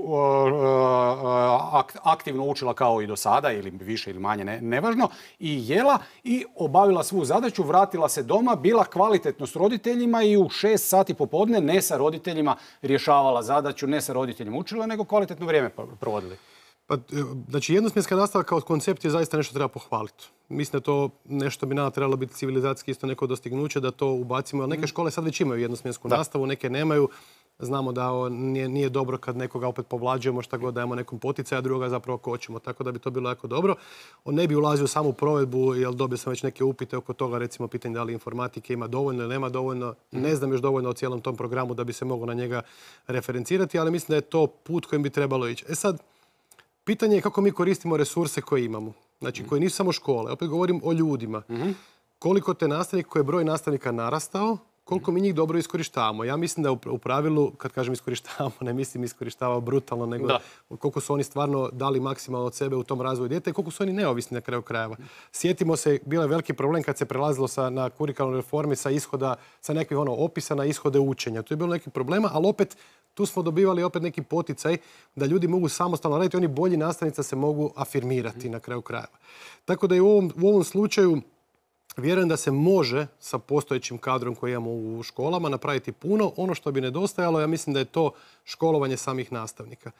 aktivno učila kao i do sada, ili više ili manje, ne, nevažno, i jela i obavila svu zadaću, vratila se doma, bila kvalitetno s roditeljima i u šest sati popodne ne sa roditeljima rješavala zadaću, ne sa roditeljima učila, nego kvalitetno vrijeme provodili. Pa, znači, jednosmjenska nastava kao koncept je zaista nešto treba pohvaliti. Mislim da to nešto bi nama trebalo biti civilizacijski isto neko dostignuće, da to ubacimo. Ali neke škole sad već imaju jednosmjensku da. nastavu, neke nemaju. Znamo da nije, nije dobro kad nekoga opet povlađujemo, šta god dajemo nekom poticaju, a drugoga zapravo kočimo. Tako da bi to bilo jako dobro. On ne bi ulazio u samu provedbu, jer dobio sam već neke upite oko toga, recimo pitanje da li informatike ima dovoljno ili nema dovoljno. Ne znam još dovoljno o cijelom tom programu da bi se moglo na njega referencirati, ali mislim da je to put kojim bi trebalo ići. E sad, pitanje je kako mi koristimo resurse koje imamo. Znači, koji nisu samo škole. Opet govorim o ljudima. Koliko te nastavnika, koji je broj nastavnika narastao, koliko mi njih dobro iskorištavamo. Ja mislim da u pravilu, kad kažem iskorištavamo, ne mislim iskorištavao brutalno, nego da. koliko su oni stvarno dali maksimalno od sebe u tom razvoju djeta i koliko su oni neovisni na kraju krajeva. Sjetimo se, bio je veliki problem kad se prelazilo sa, na kurikulnoj reformi sa ishoda, sa nekih ono, opisa na ishode učenja. Tu je bilo neki problema, ali opet tu smo dobivali opet neki poticaj da ljudi mogu samostalno raditi, oni bolji nastavnica se mogu afirmirati na kraju krajeva. Tako da i u ovom, u ovom slučaju vjerujem da se može sa postojećim kadrom koji imamo u školama napraviti puno. Ono što bi nedostajalo, ja mislim da je to školovanje samih nastavnika.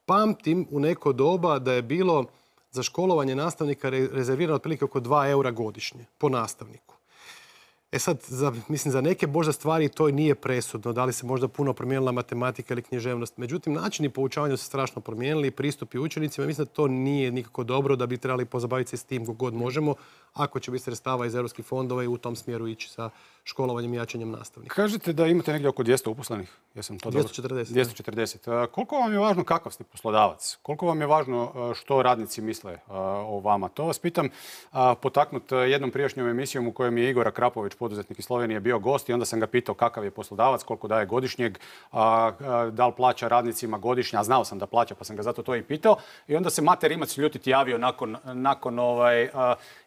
Pamtim u neko doba da je bilo za školovanje nastavnika rezervirano otprilike oko dva eura godišnje po nastavniku. E sad, za, mislim, za neke možda stvari to nije presudno, da li se možda puno promijenila matematika ili književnost. Međutim, načini poučavanja su strašno promijenili, pristupi učenicima. Mislim da to nije nikako dobro, da bi trebali pozabaviti se s tim kako god možemo, ako će biti sredstava iz europskih fondova i u tom smjeru ići sa školovanjem i jačanjem nastavnika. Kažete da imate negdje oko dvjesto uposlenih. Jesam to dvjesto četrdeset. dvjesto četrdeset. Koliko vam je važno kakav ste poslodavac? Koliko vam je važno što radnici misle o vama? To vas pitam potaknut jednom prijašnjom emisijom u kojem je Igor Akrapović, poduzetnik iz Slovenije, bio gost i onda sam ga pitao kakav je poslodavac, koliko daje godišnjeg, da li plaća radnicima godišnje, a znao sam da plaća pa sam ga zato to i pitao. I onda se Mate Rimac ljutiti javio nakon, nakon ovaj,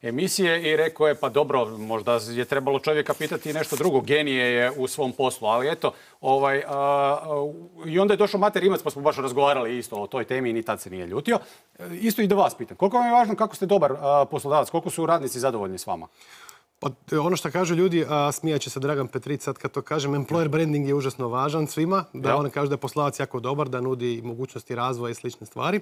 emisije i rekao je pa dobro, možda je trebalo čovjeka pitati nešto drugo, genije je u svom poslu, ali eto, ovaj, a, i onda je došao Mate Rimac pa smo baš razgovarali isto o toj temi i ni tad se nije ljutio. Isto i da vas pitam, koliko vam je važno kako ste dobar a, poslodavac, koliko su radnici zadovoljni s vama? Pa, ono što kažu ljudi, a smijat će se Dragan Petrić sad kad to kažem, employer branding je užasno važan svima, da ja. on kaže da je poslodavac jako dobar, da nudi mogućnosti razvoja i slične stvari.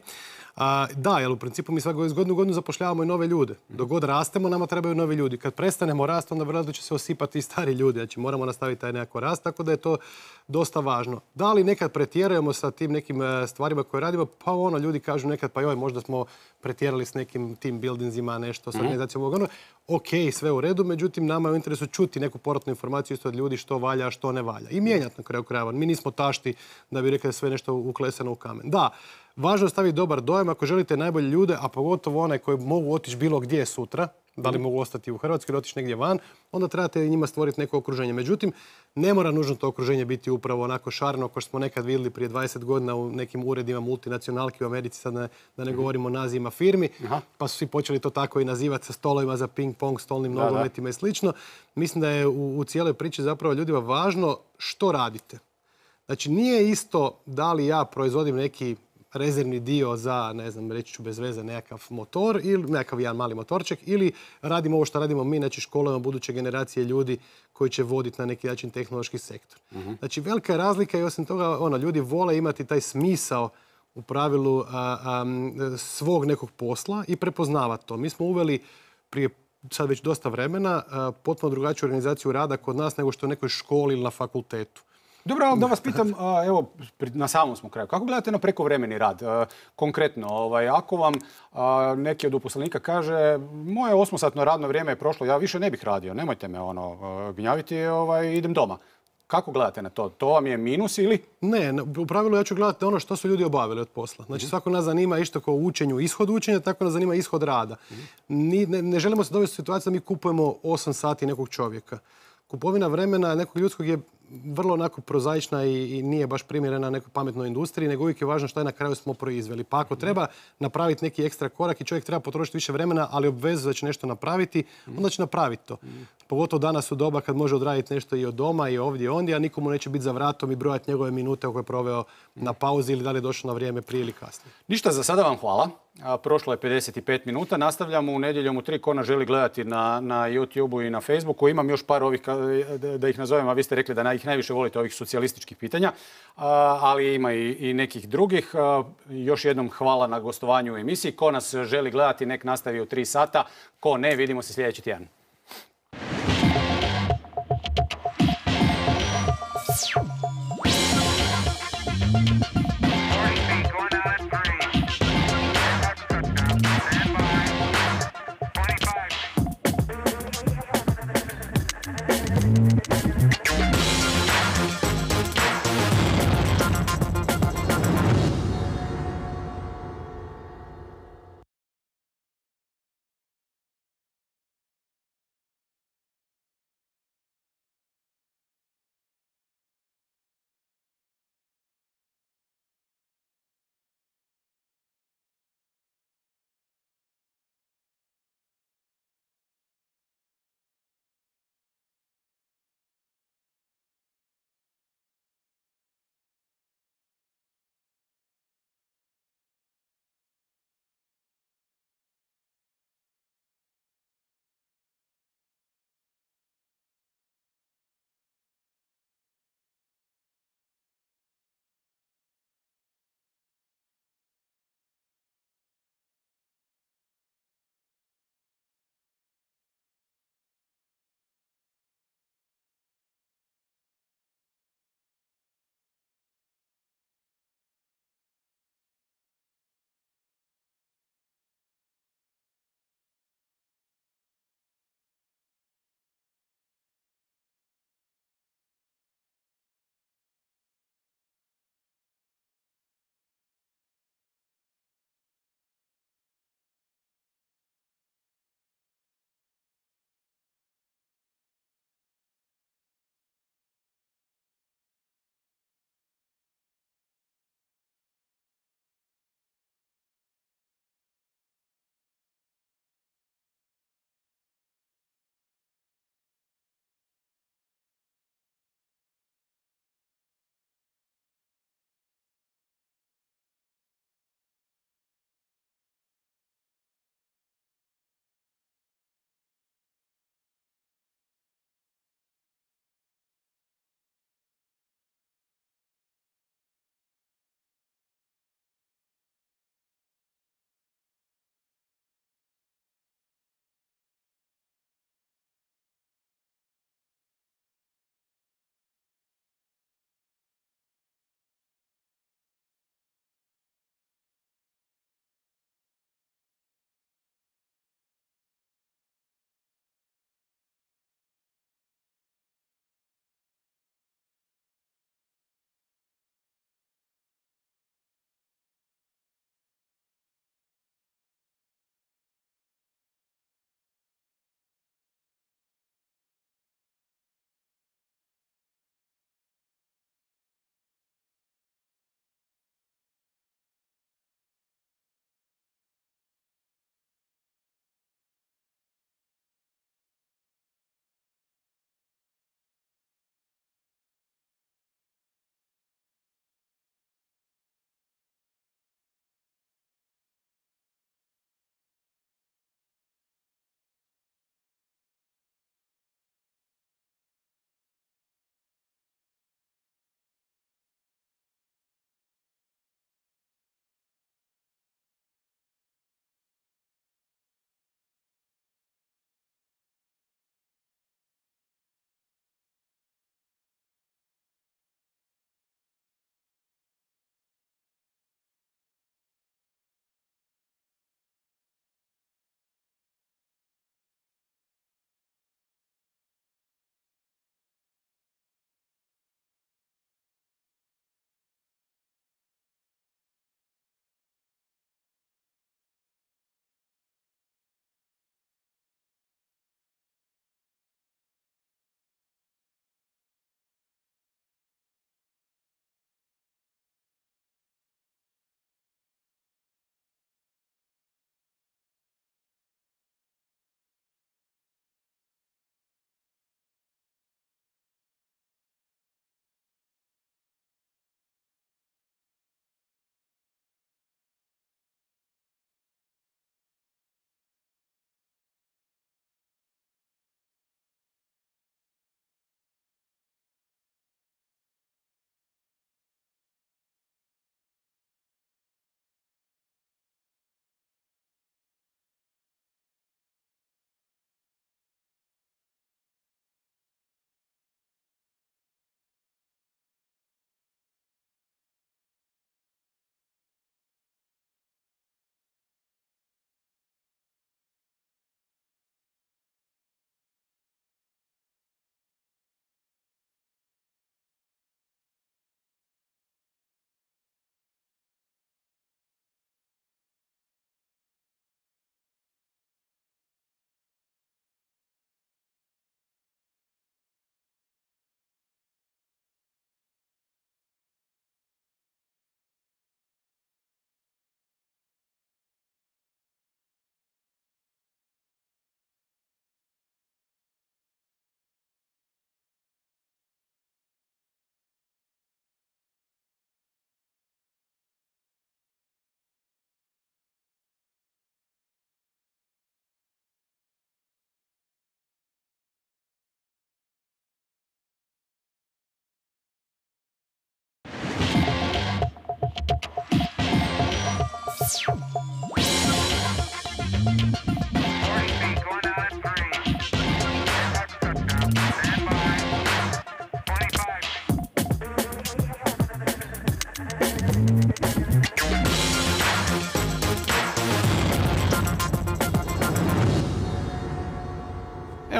A, da, jer u principu mi svako iz godinu godinu zapošljavamo i nove ljude. Dok god rastemo, nama trebaju novi ljudi. Kad prestanemo rast, onda vjerojatno će se osipati i stari ljudi. Znači moramo nastaviti taj nekako rast, tako da je to dosta važno. Da li nekad pretjerujemo sa tim nekim stvarima koje radimo? Pa ono, ljudi kažu nekad, pa joj, možda smo pretjerali s nekim team buildingsima, nešto s organizacijom ovog ono. Ok, sve u redu, međutim, nama je u interesu čuti neku povratnu informaciju isto od ljudi što valja, što ne valja. I mijenjati na kraju krajeva. Mi nismo tašti da bi rekli da sve nešto uklesano u kamen. Da, važno je staviti dobar dojam ako želite najbolje ljude, a pogotovo one koji mogu otići bilo gdje sutra, da li mogu ostati u Hrvatskoj ili otići negdje van, onda trebate njima stvoriti neko okruženje. Međutim, ne mora nužno to okruženje biti upravo onako šareno kao što smo nekad vidjeli prije dvadeset godina u nekim uredima multinacionalki u Americi, sad ne, da ne govorimo o nazivima firmi, Aha. pa su svi počeli to tako i nazivati sa stolovima za ping-pong, stolnim nogometima i slično. Mislim da je u, u cijeloj priči zapravo ljudima važno što radite. Znači, nije isto da li ja proizvodim neki rezervni dio za, ne znam, reći ću bez veze, nekakav motor ili nekakav jedan mali motorček ili radimo ovo što radimo mi, znači školujemo buduće generacije ljudi koji će voditi na neki način tehnološki sektor. Uh-huh. Znači, velika je razlika i osim toga, ono, ljudi vole imati taj smisao u pravilu a, a, svog nekog posla i prepoznavati to. Mi smo uveli prije sad već dosta vremena a, potpuno drugačiju organizaciju rada kod nas nego što u nekoj školi ili na fakultetu. Dobro, da vas pitam, evo, na samom smo kraju. Kako gledate na prekovremeni rad? Konkretno, ovaj, ako vam neki od uposlenika kaže moje osmosatno radno vrijeme je prošlo, ja više ne bih radio, nemojte me ono, gnjaviti, ovaj, idem doma. Kako gledate na to? To vam je minus ili? Ne, u pravilu ja ću gledati ono što su ljudi obavili od posla. Znači, svako nas zanima isto kao u učenju ishod učenja, tako nas zanima ishod rada. Ni, ne, ne želimo se dovesti u situaciju da mi kupujemo osam sati nekog čovjeka. Kupovina vremena nekog ljudskog je vrlo onako prozaična i, i nije baš primjerena nekoj pametnoj industriji, nego uvijek je važno što je na kraju smo proizveli. Pa ako treba napraviti neki ekstra korak i čovjek treba potrošiti više vremena, ali obvezuje da će nešto napraviti, onda će napraviti to. Pogotovo danas u doba kad može odraditi nešto i od doma i ovdje i ondje, a nikomu neće biti za vratom i brojati njegove minute koje je proveo na pauzi ili da li je došao na vrijeme prije ili kasnije. Ništa, za sada vam hvala. A, prošlo je pedeset pet minuta. Nastavljamo u nedjeljom u tri. Ko nas želi gledati na, na YouTubeu i na Facebooku. Imam još par ovih, da ih nazovem, a vi ste rekli da ih najviše volite ovih socijalističkih pitanja, a, ali ima i, i nekih drugih. A, još jednom hvala na gostovanju u emisiji. Ko nas želi gledati, nek nastavi u tri sata. Ko ne, vidimo se sljedeći tjedan.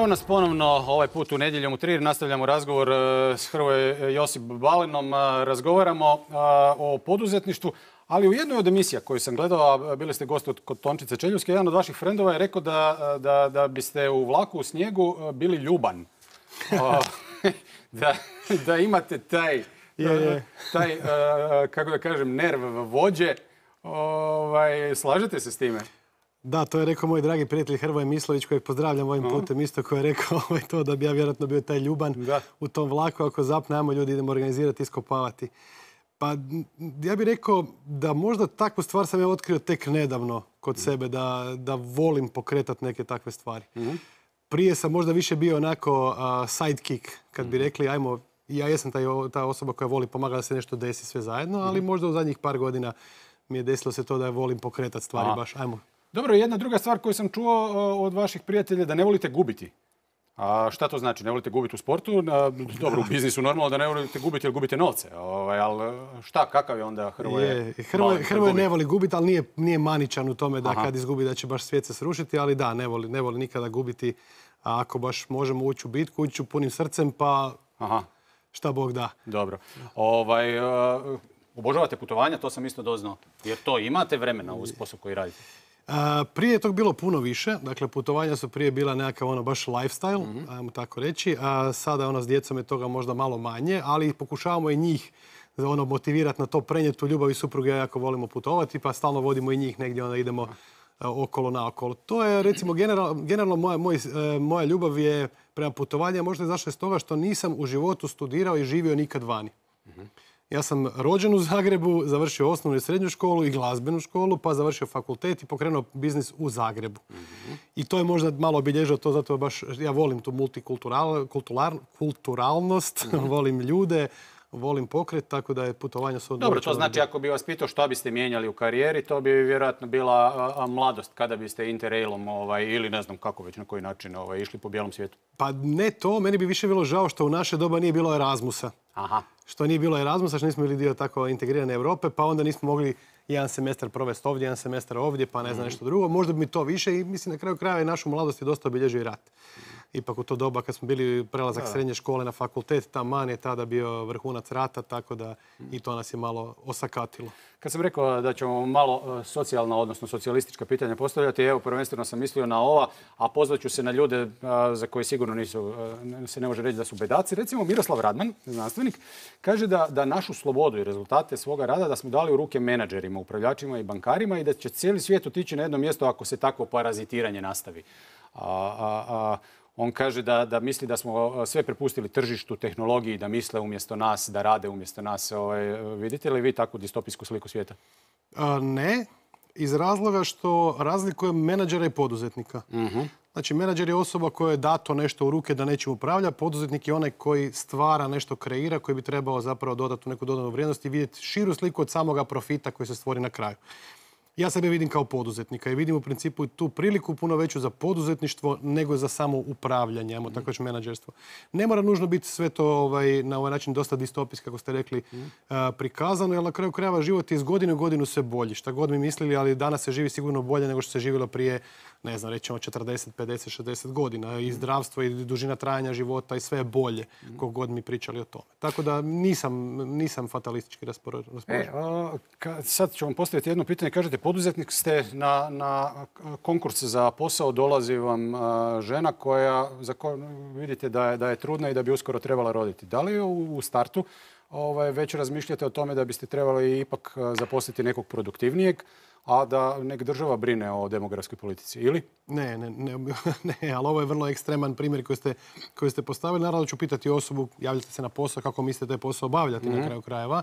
Evo nas ponovno ovaj put u Nedjeljom u tri. Nastavljamo razgovor s Hrvoje Josip Balinom. Razgovaramo o poduzetništvu, ali u jednoj od emisija koju sam gledao, a bili ste gost kod Tončice Čeljuvske, jedan od vaših frendova je rekao da, da, da biste u vlaku u snijegu bili ljuban. da, da imate taj, je, je. taj kako da kažem, nerv vođe. Ovaj, slažete se s time? Da, to je rekao moj dragi prijatelj Hrvoje Mislović, kojeg pozdravljam ovim putem, isto koji je rekao to da bi ja vjerojatno bio taj ljuban da. u tom vlaku. Ako zapne, ajmo ljudi, idemo organizirati, iskopavati. Pa ja bih rekao da možda takvu stvar sam ja otkrio tek nedavno kod sebe, da, da volim pokretati neke takve stvari. Mm-hmm. Prije sam možda više bio onako uh, sidekick, kad bi rekli, ajmo, ja jesam taj, ta osoba koja voli pomagati da se nešto desi sve zajedno, ali mm-hmm. možda u zadnjih par godina mi je desilo se to da volim pokretati stvari. Aha. Baš, ajmo. Dobro, jedna druga stvar koju sam čuo od vaših prijatelja, da ne volite gubiti. A šta to znači? Ne volite gubiti u sportu? Dobro, u biznisu normalno da ne volite gubiti jer gubite novce. Ovaj, ali šta, kakav je onda Hrvoje? Hrvoje, Hrvoje ne voli gubiti, ali nije, nije maničan u tome da Aha. kad izgubi da će baš svijet se srušiti, ali da, ne voli, ne voli nikada gubiti. A ako baš možemo ući u bitku, ući u punim srcem, pa Aha. šta Bog da. Dobro. Ovaj, uh, obožavate putovanja, to sam isto doznao. Jer to imate vremena uz posao koji radite? A, prije je tog bilo puno više, dakle putovanja su prije bila nekakav ono baš lifestyle, mm-hmm. ajmo tako reći, a sada ono s djecom je toga možda malo manje, ali pokušavamo i njih ono motivirati na to, prenijeti tu ljubav i supruge, ja jako volimo putovati, pa stalno vodimo i njih negdje, onda idemo a, okolo naokolo. To je recimo general, generalno moja, moj, e, moja ljubav je prema putovanju, možda je zašla iz toga što nisam u životu studirao i živio nikad vani. Mm-hmm. Ja sam rođen u Zagrebu, završio osnovnu i srednju školu i glazbenu školu, pa završio fakultet i pokrenuo biznis u Zagrebu. Mm-hmm. I to je možda malo obilježilo to, zato baš ja volim tu multikulturalnost, mm-hmm. volim ljude, volim pokret, tako da je putovanje su... Dobro, to znači ako bi vas pitao što biste mijenjali u karijeri, to bi vjerojatno bila a, a, mladost kada biste interrailom ovaj, ili ne znam kako već na koji način ovaj, išli po bijelom svijetu. Pa ne to, meni bi više bilo žao što u naše doba nije bilo Erasmusa. Aha. Što nije bilo Erasmusa, što nismo bili dio tako integrirane Europe, pa onda nismo mogli jedan semestar provesti ovdje, jedan semestar ovdje, pa ne znam nešto drugo. Možda bi mi to više i mislim na kraju krajeva i našu mladost je dosta obilježio i rat. Ipak u to doba kad smo bili prelazak srednje škole na fakultet, taman je tada bio vrhunac rata, tako da i to nas je malo osakatilo. Kad sam rekao da ćemo malo socijalna, odnosno socijalistička pitanja postavljati, evo prvenstveno sam mislio na ova, a pozvat ću se na ljude za koje sigurno nisu, se ne može reći da su bedaci. Recimo Miroslav Radman, znanstvenik, kaže da, da našu slobodu i rezultate svoga rada da smo dali u ruke menadžerima, upravljačima i bankarima i da će cijeli svijet otići na jedno mjesto ako se takvo parazitiranje nastavi. A, a, a, On kaže da, da misli da smo sve prepustili tržištu, tehnologiji, da misle umjesto nas, da rade umjesto nas. Ovaj, vidite li vi takvu distopijsku sliku svijeta? A, ne, iz razloga što razlikujem menadžera i poduzetnika. Uh-huh. Znači, menadžer je osoba koja je dato nešto u ruke da nečim upravlja, poduzetnik je onaj koji stvara nešto, kreira, koji bi trebao zapravo dodati neku dodanu vrijednost i vidjeti širu sliku od samoga profita koji se stvori na kraju. Ja sebe vidim kao poduzetnika i vidim u principu tu priliku puno veću za poduzetništvo nego za samo upravljanje, ajmo tako reći menadžerstvo. Ne mora nužno biti sve to ovaj, na ovaj način dosta distopijski, kako ste rekli, mm. uh, prikazano, jer na kraju krajeva život je iz godine u godinu sve bolji. Šta god mi mislili, ali danas se živi sigurno bolje nego što se živjelo prije, ne znam, rećemo četrdeset, pedeset, šezdeset godina. I zdravstvo i dužina trajanja života i sve je bolje, mm. kog god mi pričali o tome. Tako da nisam, nisam fatalistički raspoložen. E, sad ću vam postaviti jedno pitanje. Kažete, poduzetnik ste, na, na konkurs za posao dolazi vam a, žena koja, za koju vidite da je, da je trudna i da bi uskoro trebala roditi. Da li u, u startu ovaj, već razmišljate o tome da biste trebali ipak zaposliti nekog produktivnijeg, a da nek država brine o demografskoj politici, ili? Ne, ne, ne, ne, ali ovo je vrlo ekstreman primjer koji ste, koji ste postavili. Naravno ću pitati osobu, javljate se na posao, kako mislite taj posao obavljati mm-hmm. na kraju krajeva,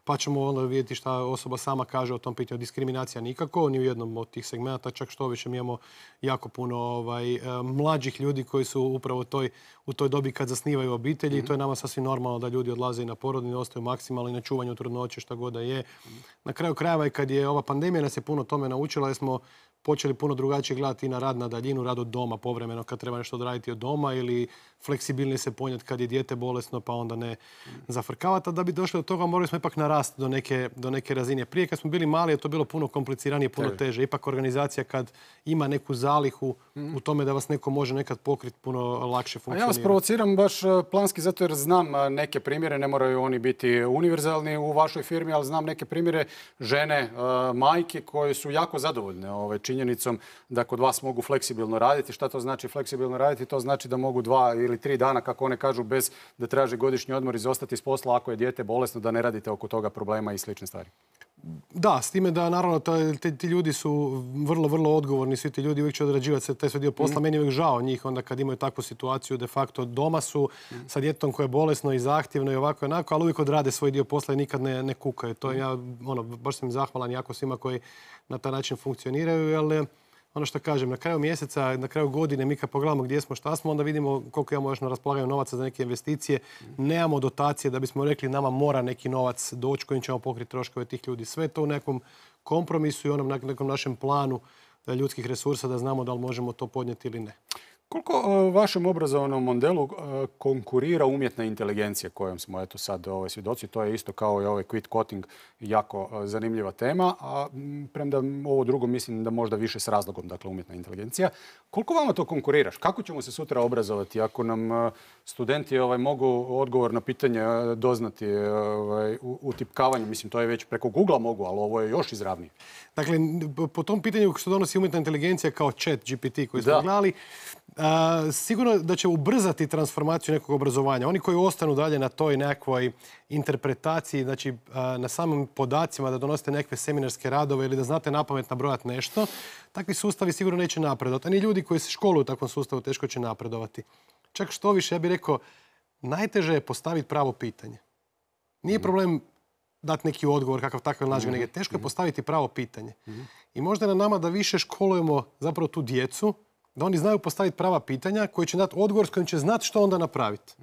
pa ćemo onda vidjeti šta osoba sama kaže o tom pitanju. Diskriminacija nikako, ni u jednom od tih segmenta, čak što više mi imamo jako puno ovaj, mlađih ljudi koji su upravo u toj, u toj dobi kad zasnivaju obitelji mm-hmm. i to je nama sasvim normalno da ljudi odlaze i na porodni, ostaju maksimalno i na čuvanju trudnoće, šta god da je. Mm-hmm. Na kraju krajeva i kad je ova pandemija nas je puno tome naučila, jer smo počeli puno drugačije gledati i na rad na daljinu, rad od doma povremeno kad treba nešto odraditi od doma ili fleksibilnije se ponijeti kad je dijete bolesno pa onda ne zafrkavati. A da bi došli do toga morali smo ipak na rast do neke, do neke razine. Prije kad smo bili mali je to bilo puno kompliciranije, puno teže. Ipak organizacija kad ima neku zalihu u tome da vas neko može nekad pokriti, puno lakše funkcionira. A ja vas provociram baš planski zato jer znam neke primjere, ne moraju oni biti univerzalni u vašoj firmi, ali znam neke primjere žene, majke koje su jako zadovoljne ovaj, činjenicom da kod vas mogu fleksibilno raditi. Šta to znači fleksibilno raditi? To znači da mogu dva ili tri dana, kako one kažu, bez da traže godišnji odmor, izostati iz posla ako je dijete bolesno, da ne radite oko toga problema i slične stvari. Da, s time da naravno ti, ti ljudi su vrlo, vrlo odgovorni, svi ti ljudi uvijek će odrađivati taj svoj dio posla. Mm. Meni je uvijek žao njih onda kad imaju takvu situaciju, de facto doma su mm. sa djetetom koje je bolesno i zahtjevno i ovako i onako, ali uvijek odrade svoj dio posla i nikad ne, ne kukaju. To ja, ono, baš sam im zahvalan jako svima koji na taj način funkcioniraju, jer ono što kažem, na kraju mjeseca, na kraju godine, mi kad pogledamo gdje smo, šta smo, onda vidimo koliko imamo još na raspolaganju novaca za neke investicije. Nemamo dotacije da bismo rekli nama mora neki novac doći kojim ćemo pokriti troškove tih ljudi. Sve to u nekom kompromisu i onom nekom našem planu ljudskih resursa da znamo da li možemo to podnijeti ili ne. Koliko u vašem obrazovnom modelu konkurira umjetna inteligencija kojom smo eto sad ovaj, svjedoci? To je isto kao i ovaj quit coding, jako zanimljiva tema, a premda ovo drugo mislim da možda više s razlogom, dakle umjetna inteligencija. Koliko vama to konkuriraš? Kako ćemo se sutra obrazovati ako nam studenti ovaj, mogu odgovor na pitanje doznati ovaj, utipkavanjem? Mislim, to je već preko Google mogu, ali ovo je još izravnije. Dakle, po tom pitanju što donosi umjetna inteligencija kao chat G P T koji smo gledali, Uh, sigurno da će ubrzati transformaciju nekog obrazovanja. Oni koji ostanu dalje na toj nekakvoj interpretaciji, znači uh, na samim podacima da donosite nekakve seminarske radove ili da znate napamet nabrojati nešto, takvi sustavi sigurno neće napredovati. A ni ljudi koji se školuju u takvom sustavu teško će napredovati. Čak što više, ja bih rekao, najteže je postaviti pravo pitanje. Nije problem dati neki odgovor kakav takav nađe, nego teško je postaviti pravo pitanje. I možda je na nama da više školujemo zapravo tu djecu, da oni znaju postaviti prava pitanja koji će dati odgovor s kojim će znati što onda napraviti.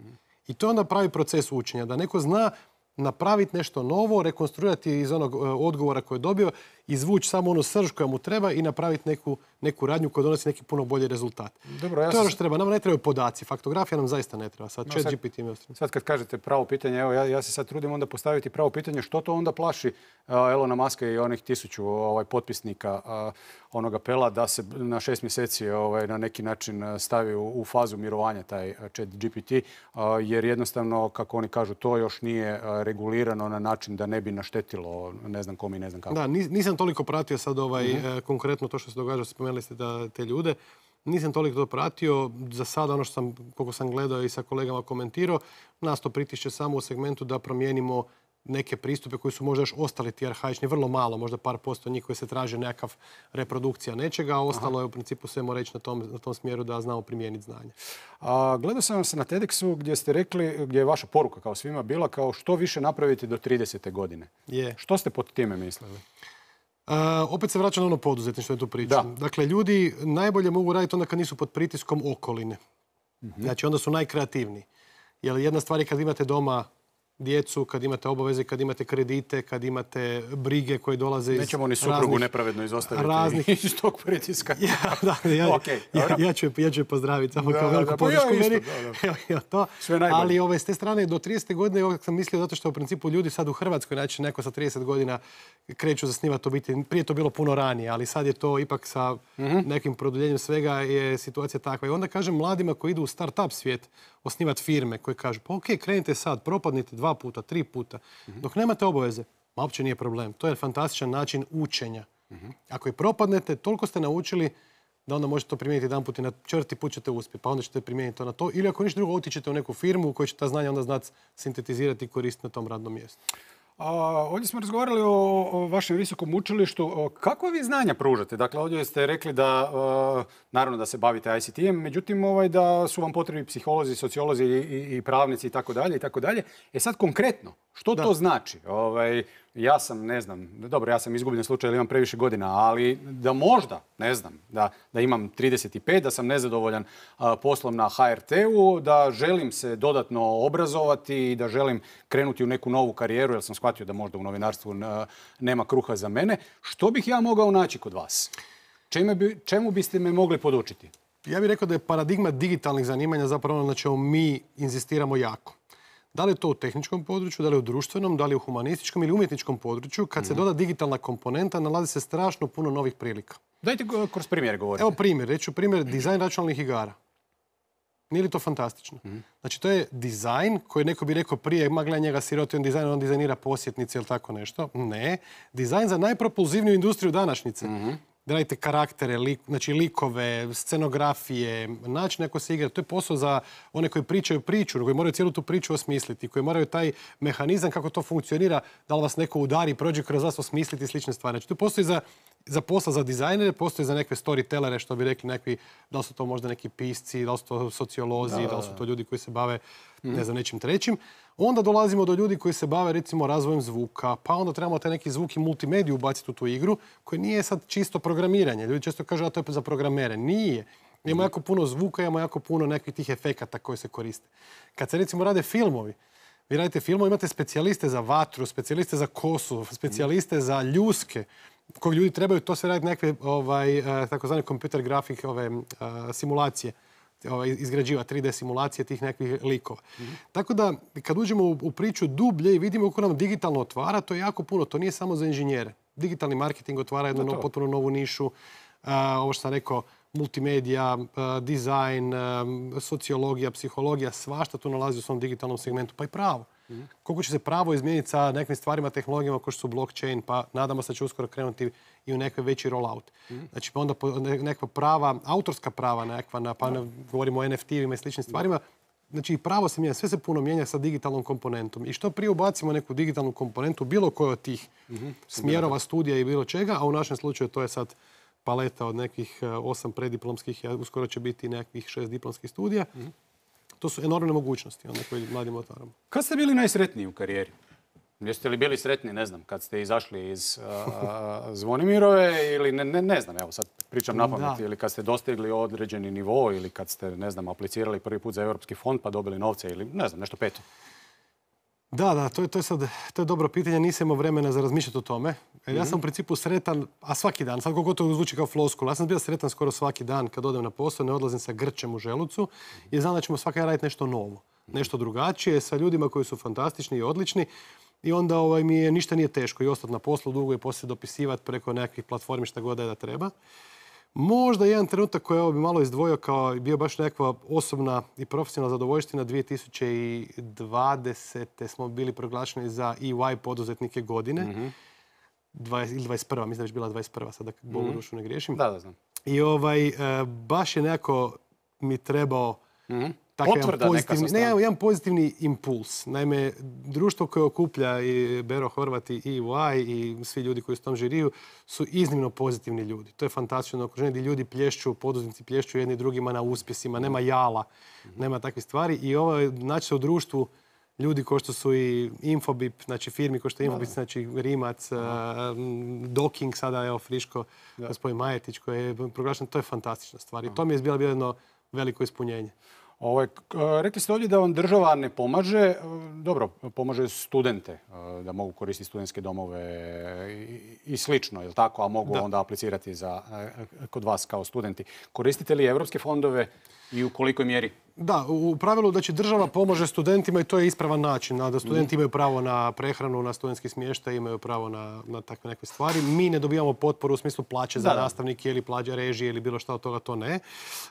I to je onda pravi proces učenja. Da neko zna napraviti nešto novo, rekonstruirati iz onog odgovora koji je dobio, izvući samo onu srž koja mu treba i napraviti neku, neku radnju koja donosi neki puno bolji rezultat. Dobro, ja to je ono što treba. Nama ne trebaju podaci. Faktografija nam zaista ne treba. Sad, no, sad, G P T sad kad kažete pravo pitanje, evo ja, ja se sad trudim onda postaviti pravo pitanje što to onda plaši uh, Elona Muska i onih tisuću ovaj, potpisnika uh, onog apela da se na šest mjeseci ovaj, na neki način stavi u, u fazu mirovanja taj chat G P T, uh, jer jednostavno, kako oni kažu, to još nije uh, regulirano na način da ne bi naštetilo ne znam kom i ne znam kako. Da, nisam toliko pratio sad ovaj, mm-hmm. konkretno to što se događa, spomenuli ste da te ljude. Nisam toliko to pratio. Za sada ono što sam, koliko sam gledao i sa kolegama komentirao, nas to pritišće samo u segmentu da promijenimo neke pristupe koji su možda još ostali ti arhaični, vrlo malo, možda par posto njih koji se traže nekakav reprodukcija nečega, a ostalo je u principu sve mora ići na tom, na tom smjeru da znamo primijeniti znanje. A, gledao sam se na TEDxu gdje ste rekli, gdje je vaša poruka kao svima bila kao što više napraviti do tridesete godine. Je. Što ste pod time mislili? Uh, opet se vraća na ono poduzetništvo, je tu priča. Dakle, ljudi najbolje mogu raditi onda kad nisu pod pritiskom okoline. Mm-hmm. Znači, onda su najkreativniji. Jer jedna stvar je kad imate doma djecu, kad imate obaveze, kad imate kredite, kad imate brige koje dolaze iz raznih... Nećemo ni suprugu nepravedno izostaviti raznih... iz tog pritiska. Ja, da, ja, okay, ja, ja, ću, ja ću je pozdraviti samo da, kao veliku podršku ja meni. Da, da. to. Sve najbolje. Ali ove, s te strane do tridesete godine ovdje sam mislio zato što u principu ljudi sad u Hrvatskoj, znači neko sa trideset godina kreću zasnivati obitelj. Prije to bilo puno ranije, ali sad je to ipak sa mm-hmm. nekim produljenjem svega je situacija takva. I onda kažem mladima koji idu u start-up svijet osnivati firme koji kažu pa ok, krenite sad, propadnite dva puta, tri puta. Mm-hmm. Dok nemate obaveze, ma uopće nije problem. To je fantastičan način učenja. Mm-hmm. Ako i propadnete, toliko ste naučili da onda možete to primijeniti jedan put i na četvrti put ćete uspjeti, pa onda ćete primijeniti to na to. Ili ako ništa drugo, otićete u neku firmu u kojoj će ta znanja onda znati sintetizirati i koristiti na tom radnom mjestu. A, ovdje smo razgovarali o, o vašem visokom učilištu. Kako vi znanja pružate? Dakle, ovdje ste rekli da, uh, naravno da se bavite I C T-em, međutim ovaj, da su vam potrebni psiholozi, sociolozi i, i, i pravnici i tako dalje i tako dalje. E sad konkretno, što da. to znači? Ovaj, ja sam, ne znam, dobro, ja sam izgubljen slučaj jer imam previše godina, ali da možda, ne znam, da, da imam trideset pet, da sam nezadovoljan a, poslom na H R T-u, da želim se dodatno obrazovati i da želim krenuti u neku novu karijeru, jer sam shvatio da možda u novinarstvu a, nema kruha za mene. Što bih ja mogao naći kod vas? Čemu, bi, čemu biste me mogli podučiti? Ja bih rekao da je paradigma digitalnih zanimanja zapravo ono na čemu mi inzistiramo jako. Da li je to u tehničkom području, da li je u društvenom, da li je u humanističkom ili umjetničkom području, kad se doda digitalna komponenta, nalazi se strašno puno novih prilika. Dajte kroz primjer govoriti. Evo primjer, reću primjer dizajn računalnih igara. Nije li to fantastično? Znači, to je dizajn koji neko bi rekao prije, ma gledaj njega siroti, on dizajn, on dizajnira posjetnice ili tako nešto. Ne. Dizajn za najpropulzivniju industriju današnjice. Da radite karaktere, lik, znači likove, scenografije, način kako se igra. To je posao za one koji pričaju priču, koji moraju cijelu tu priču osmisliti, koji moraju taj mehanizam kako to funkcionira, da li vas neko udari, prođe kroz vas, osmisliti slične stvari. Znači, to postoji za, za posla za dizajnere, postoji za neke storytellere, što bi rekli nekvi, da li su to možda neki pisci, da li su to sociolozi, da, da li su to ljudi koji se bave ne znam, nečim trećim. Onda dolazimo do ljudi koji se bave recimo razvojem zvuka, pa onda trebamo taj neki zvuk i multimediju ubaciti u tu igru, koji nije sad čisto programiranje. Ljudi često kažu da to je za programere. Nije. Imamo jako puno zvuka, imamo jako puno nekih tih efekata koji se koriste. Kad se recimo rade filmovi, vi radite filmove, imate specijaliste za vatru, specijaliste za kosu, specijaliste za ljuske, koji ljudi trebaju to sve raditi nekakve ovaj, takozvane computer grafik ove, simulacije. Izgrađiva tri D simulacije tih nekih likova. Mm-hmm. Tako da, kad uđemo u, u priču dublje i vidimo kako nam digitalno otvara, to je jako puno. To nije samo za inženjere. Digitalni marketing otvara jednu no, potpuno novu nišu. Uh, ovo što sam rekao, multimedija, uh, dizajn, uh, sociologija, psihologija, svašta tu nalazi u svom digitalnom segmentu. Pa i pravo. Mm-hmm. Koliko će se pravo izmijeniti sa nekim stvarima, tehnologijama kao što su blockchain, pa nadamo se da će uskoro krenuti i u nekoj veći rollout. Mm-hmm. Znači, pa onda nekakva prava, autorska prava nekakva, pa ne, govorimo o en ef te-ima i sličnim stvarima. Znači, pravo se mijenja, sve se puno mijenja sa digitalnom komponentom. I što prije ubacimo neku digitalnu komponentu, bilo koje od tih mm-hmm. smjerova, studija i bilo čega, a u našem slučaju to je sad paleta od nekih osam prediplomskih, uskoro će biti nekih šest diplomskih studija. Mm-hmm. To su enormne mogućnosti, onda koji mladim otvaramo. Kad ste bili najsretniji u karijeri? Jeste li bili sretni, ne znam, kad ste izašli iz uh, Zvonimirove ili ne, ne, ne znam, evo sad pričam na pamet, ili kad ste dostigli određeni nivo ili kad ste, ne znam, aplicirali prvi put za Europski fond pa dobili novce ili ne znam, nešto peto? Da, da, to je, to je sad to je dobro pitanje, nisam imao vremena za razmišljati o tome. Mm-hmm. Ja sam u principu sretan, a svaki dan, sad koliko to zvuči kao floskula, ja sam bio sretan skoro svaki dan kad odem na posao, ne odlazim sa grčem u želucu i znam da ćemo svaki dan raditi nešto novo, nešto drugačije, sa ljudima koji su fantastični i odlični. I onda ovaj, mi je, ništa nije teško i ostati na poslu dugo i poslije dopisivati preko nekakvih platformi šta god da treba. Možda jedan trenutak koji ovo bi malo izdvojio kao bio baš nekakva osobna i profesionalna zadovoljština. dvije tisuće dvadesete smo bili proglašeni za E Y poduzetnike godine. Mm-hmm. dvadeset, ili dvadeset prva, mislim da je već bila dvadeset prva, sada mm-hmm. Bogu dušu ne griješim. Da, da znam. I ovaj, baš je nekako mi trebao mm-hmm. Jedan pozitivni, ne, jedan pozitivni impuls. Naime, društvo koje okuplja i Bero Horvat i E Y i svi ljudi koji su u tom žiriju su iznimno pozitivni ljudi. To je fantastično okruženje gdje ljudi plješću, poduzetnici plješću jedni drugima na uspjesima, nema jala, nema takvih stvari. I ovo naći se u društvu ljudi kao što su i Infobip, znači firmi kao što je Infobip, znači Rimac, Docking, sada evo friško, gospodin Majetić koji je proglašen, to je fantastična stvar. I to mi je bilo jedno veliko ispunjenje. Ovo, rekli ste ovdje da vam država ne pomaže, dobro, pomaže studente da mogu koristiti studentske domove i, i slično, je li tako, a mogu da. Onda aplicirati za, kod vas kao studenti. Koristite li evropske fondove i u kolikoj mjeri? Da, u pravilu da će država pomože studentima i to je ispravan način. Da studenti imaju pravo na prehranu, na studentski smještaj, imaju pravo na, na takve neke stvari. Mi ne dobijamo potporu u smislu plaće za da, nastavnike ili plaće režije ili bilo šta od toga, to ne.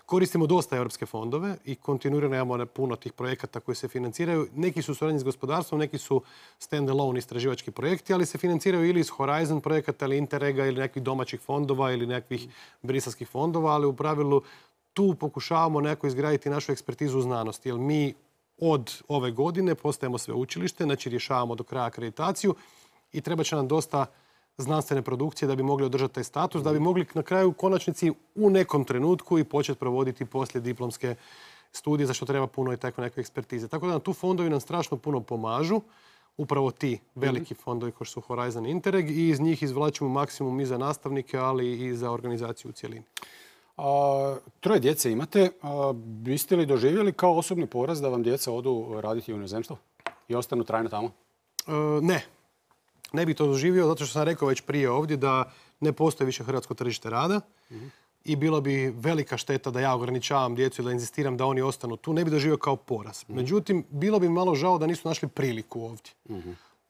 Koristimo dosta europske fondove i kontinuirano imamo puno tih projekata koji se financiraju. Neki su suradnji s gospodarstvom, neki su stand-alone istraživački projekti, ali se financiraju ili iz Horizon projekata ili Interrega ili nekih domaćih fondova ili nekih briselskih fondova, ali u pravilu tu pokušavamo neko izgraditi našu ekspertizu u znanosti, jer mi od ove godine postajemo sveučilište, znači rješavamo do kraja akreditaciju i treba će nam dosta znanstvene produkcije da bi mogli održati taj status, da bi mogli na kraju u konačnici u nekom trenutku i početi provoditi poslije diplomske studije, za što treba puno i tako neke ekspertize. Tako da tu fondovi nam strašno puno pomažu, upravo ti veliki fondovi kao što su Horizon i Interreg, i iz njih izvlačimo maksimum i za nastavnike, ali i za organizaciju u cjelini. A, troje djece imate. A, biste li doživjeli kao osobni poraz da vam djeca odu raditi u inozemstvo i ostanu trajno tamo? E, ne. Ne bi to doživio zato što sam rekao već prije ovdje da ne postoji više hrvatsko tržište rada. Mm-hmm. i bilo bi velika šteta da ja ograničavam djecu i da inzistiram da oni ostanu tu, ne bi doživio kao poraz. Međutim, bilo bi malo žao da nisu našli priliku ovdje.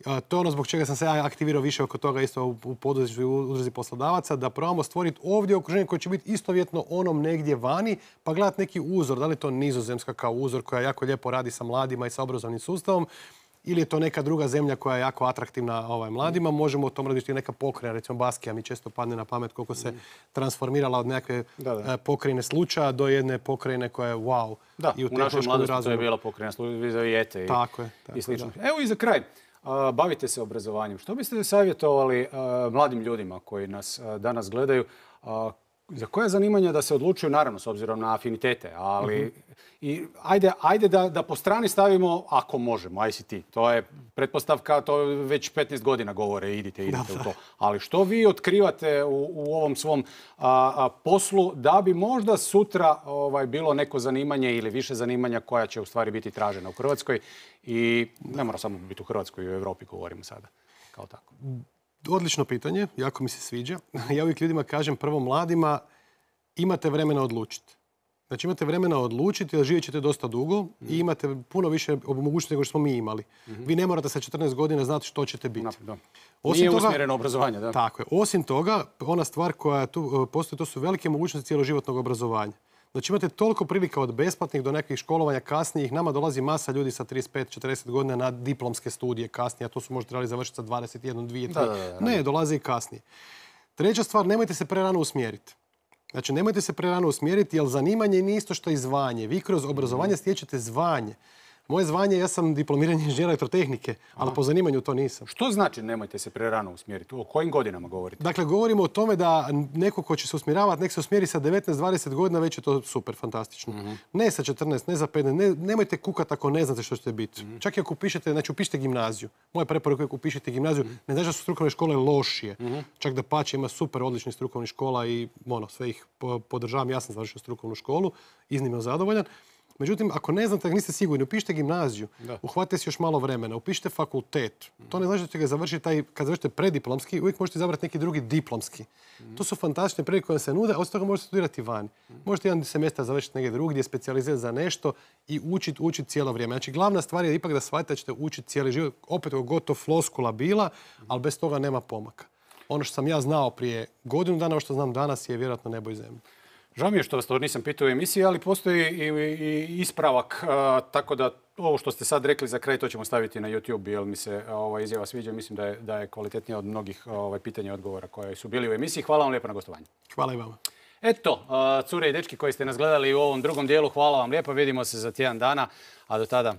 A, to je ono zbog čega sam se ja aktivirao više oko toga isto u, u poduzetništvu i u udruzi poslodavaca, da probamo stvoriti ovdje okruženje koje će biti istovjetno onom negdje vani, pa gledati neki uzor. Da li je to Nizozemska kao uzor koja jako lijepo radi sa mladima i sa obrazovnim sustavom, ili je to neka druga zemlja koja je jako atraktivna ovaj, mladima. Možemo o tom raditi neka pokrajina, recimo Baskija mi često padne na pamet koliko se transformirala od nekakve Da, da. pokrajine slučaja do jedne pokrajine koja je wow. Da, I u našoj tehnološkom mladosti to je razvoju. bila pokrajina Vizovijete i, Tako je, tako i slično. da. Evo i za kraj. A, bavite se obrazovanjem. Što biste savjetovali a, mladim ljudima koji nas a, danas gledaju? A, za koje zanimanja da se odlučuju, naravno, s obzirom na afinitete, ali i ajde, ajde da, da po strani stavimo, ako možemo, I C T. To je pretpostavka, to već petnaest godina govore, idite, idite u to. Ali što vi otkrivate u, u ovom svom a, a, poslu da bi možda sutra ovaj, bilo neko zanimanje ili više zanimanja koja će u stvari biti tražena u Hrvatskoj i ne mora samo biti u Hrvatskoj i u Europi, govorimo sada kao tako. Odlično pitanje, jako mi se sviđa. Ja uvijek ljudima kažem, prvo mladima, imate vremena odlučiti. Znači imate vremena odlučiti, jer živjet ćete dosta dugo i imate puno više mogućnosti nego što smo mi imali. Vi ne morate sa četrnaest godina znati što ćete biti. Da. Osim Nije toga- usmjereno obrazovanje, da. Tako je. Osim toga, ona stvar koja tu postoji, to su velike mogućnosti cjeloživotnog obrazovanja. Znači imate toliko prilika od besplatnih do nekih školovanja kasnijih. Nama dolazi masa ljudi sa trideset pet četrdeset godina na diplomske studije kasnije, a to su možda trebali završiti sa dvadeset jedan, dvije, tri. Da, da, da, da. Ne, dolaze i kasnije. Treća stvar, nemojte se prerano usmjeriti. Znači, nemojte se prerano usmjeriti, jer zanimanje nije isto što i zvanje. Vi kroz obrazovanje stječete zvanje. Moje zvanje, ja sam diplomirani inženjer elektrotehnike, ali po zanimanju to nisam. Što znači nemojte se prerano usmjeriti? O kojim godinama govorite? Dakle, govorimo o tome da neko ko će se usmjeravati, nek se usmjeri sa devetnaest dvadeset godina, već je to super, fantastično. Ne sa četrnaest, ne za petnaest, ne, nemojte kukati ako ne znate što ćete biti. Čak i ako upišete, znači upišite gimnaziju. Moja preporuka je ako upišete gimnaziju, ne znači da su strukovne škole lošije. Čak da pače, ima super odličnih strukovnih škola i ono, sve ih po- podržavam. Ja sam završio strukovnu školu, iznimno zadovoljan. Međutim, ako ne znate, ako niste sigurni, upišite gimnaziju, uhvatite si još malo vremena, upišite fakultet. To ne znači da ćete ga završiti, taj, kad završite prediplomski, uvijek možete izabrati neki drugi diplomski. To su fantastične prilike koje se nude, a od toga možete studirati vani. Možete jedan semestar završiti negdje drugdje, specijalizirati za nešto i učiti učit cijelo vrijeme. Znači, glavna stvar je ipak da shvatite da ćete učiti cijeli život, opet gotov floskula bila, ali bez toga nema pomaka. Ono što sam ja znao prije godinu dana, ono što znam danas je vjerojatno nebo i zemlja. Žao mi je što vas to nisam pitao u emisiji, ali postoji i, i ispravak, a, tako da ovo što ste sad rekli za kraj, to ćemo staviti na YouTube, jer mi se ova izjava sviđa. Mislim da je, da je kvalitetnija od mnogih ovaj, pitanja i odgovora koje su bili u emisiji. Hvala vam lijepo na gostovanju. Hvala i vama. Eto, a, cure i dečki koji ste nas gledali u ovom drugom dijelu, hvala vam lijepo. Vidimo se za tjedan dana, a do tada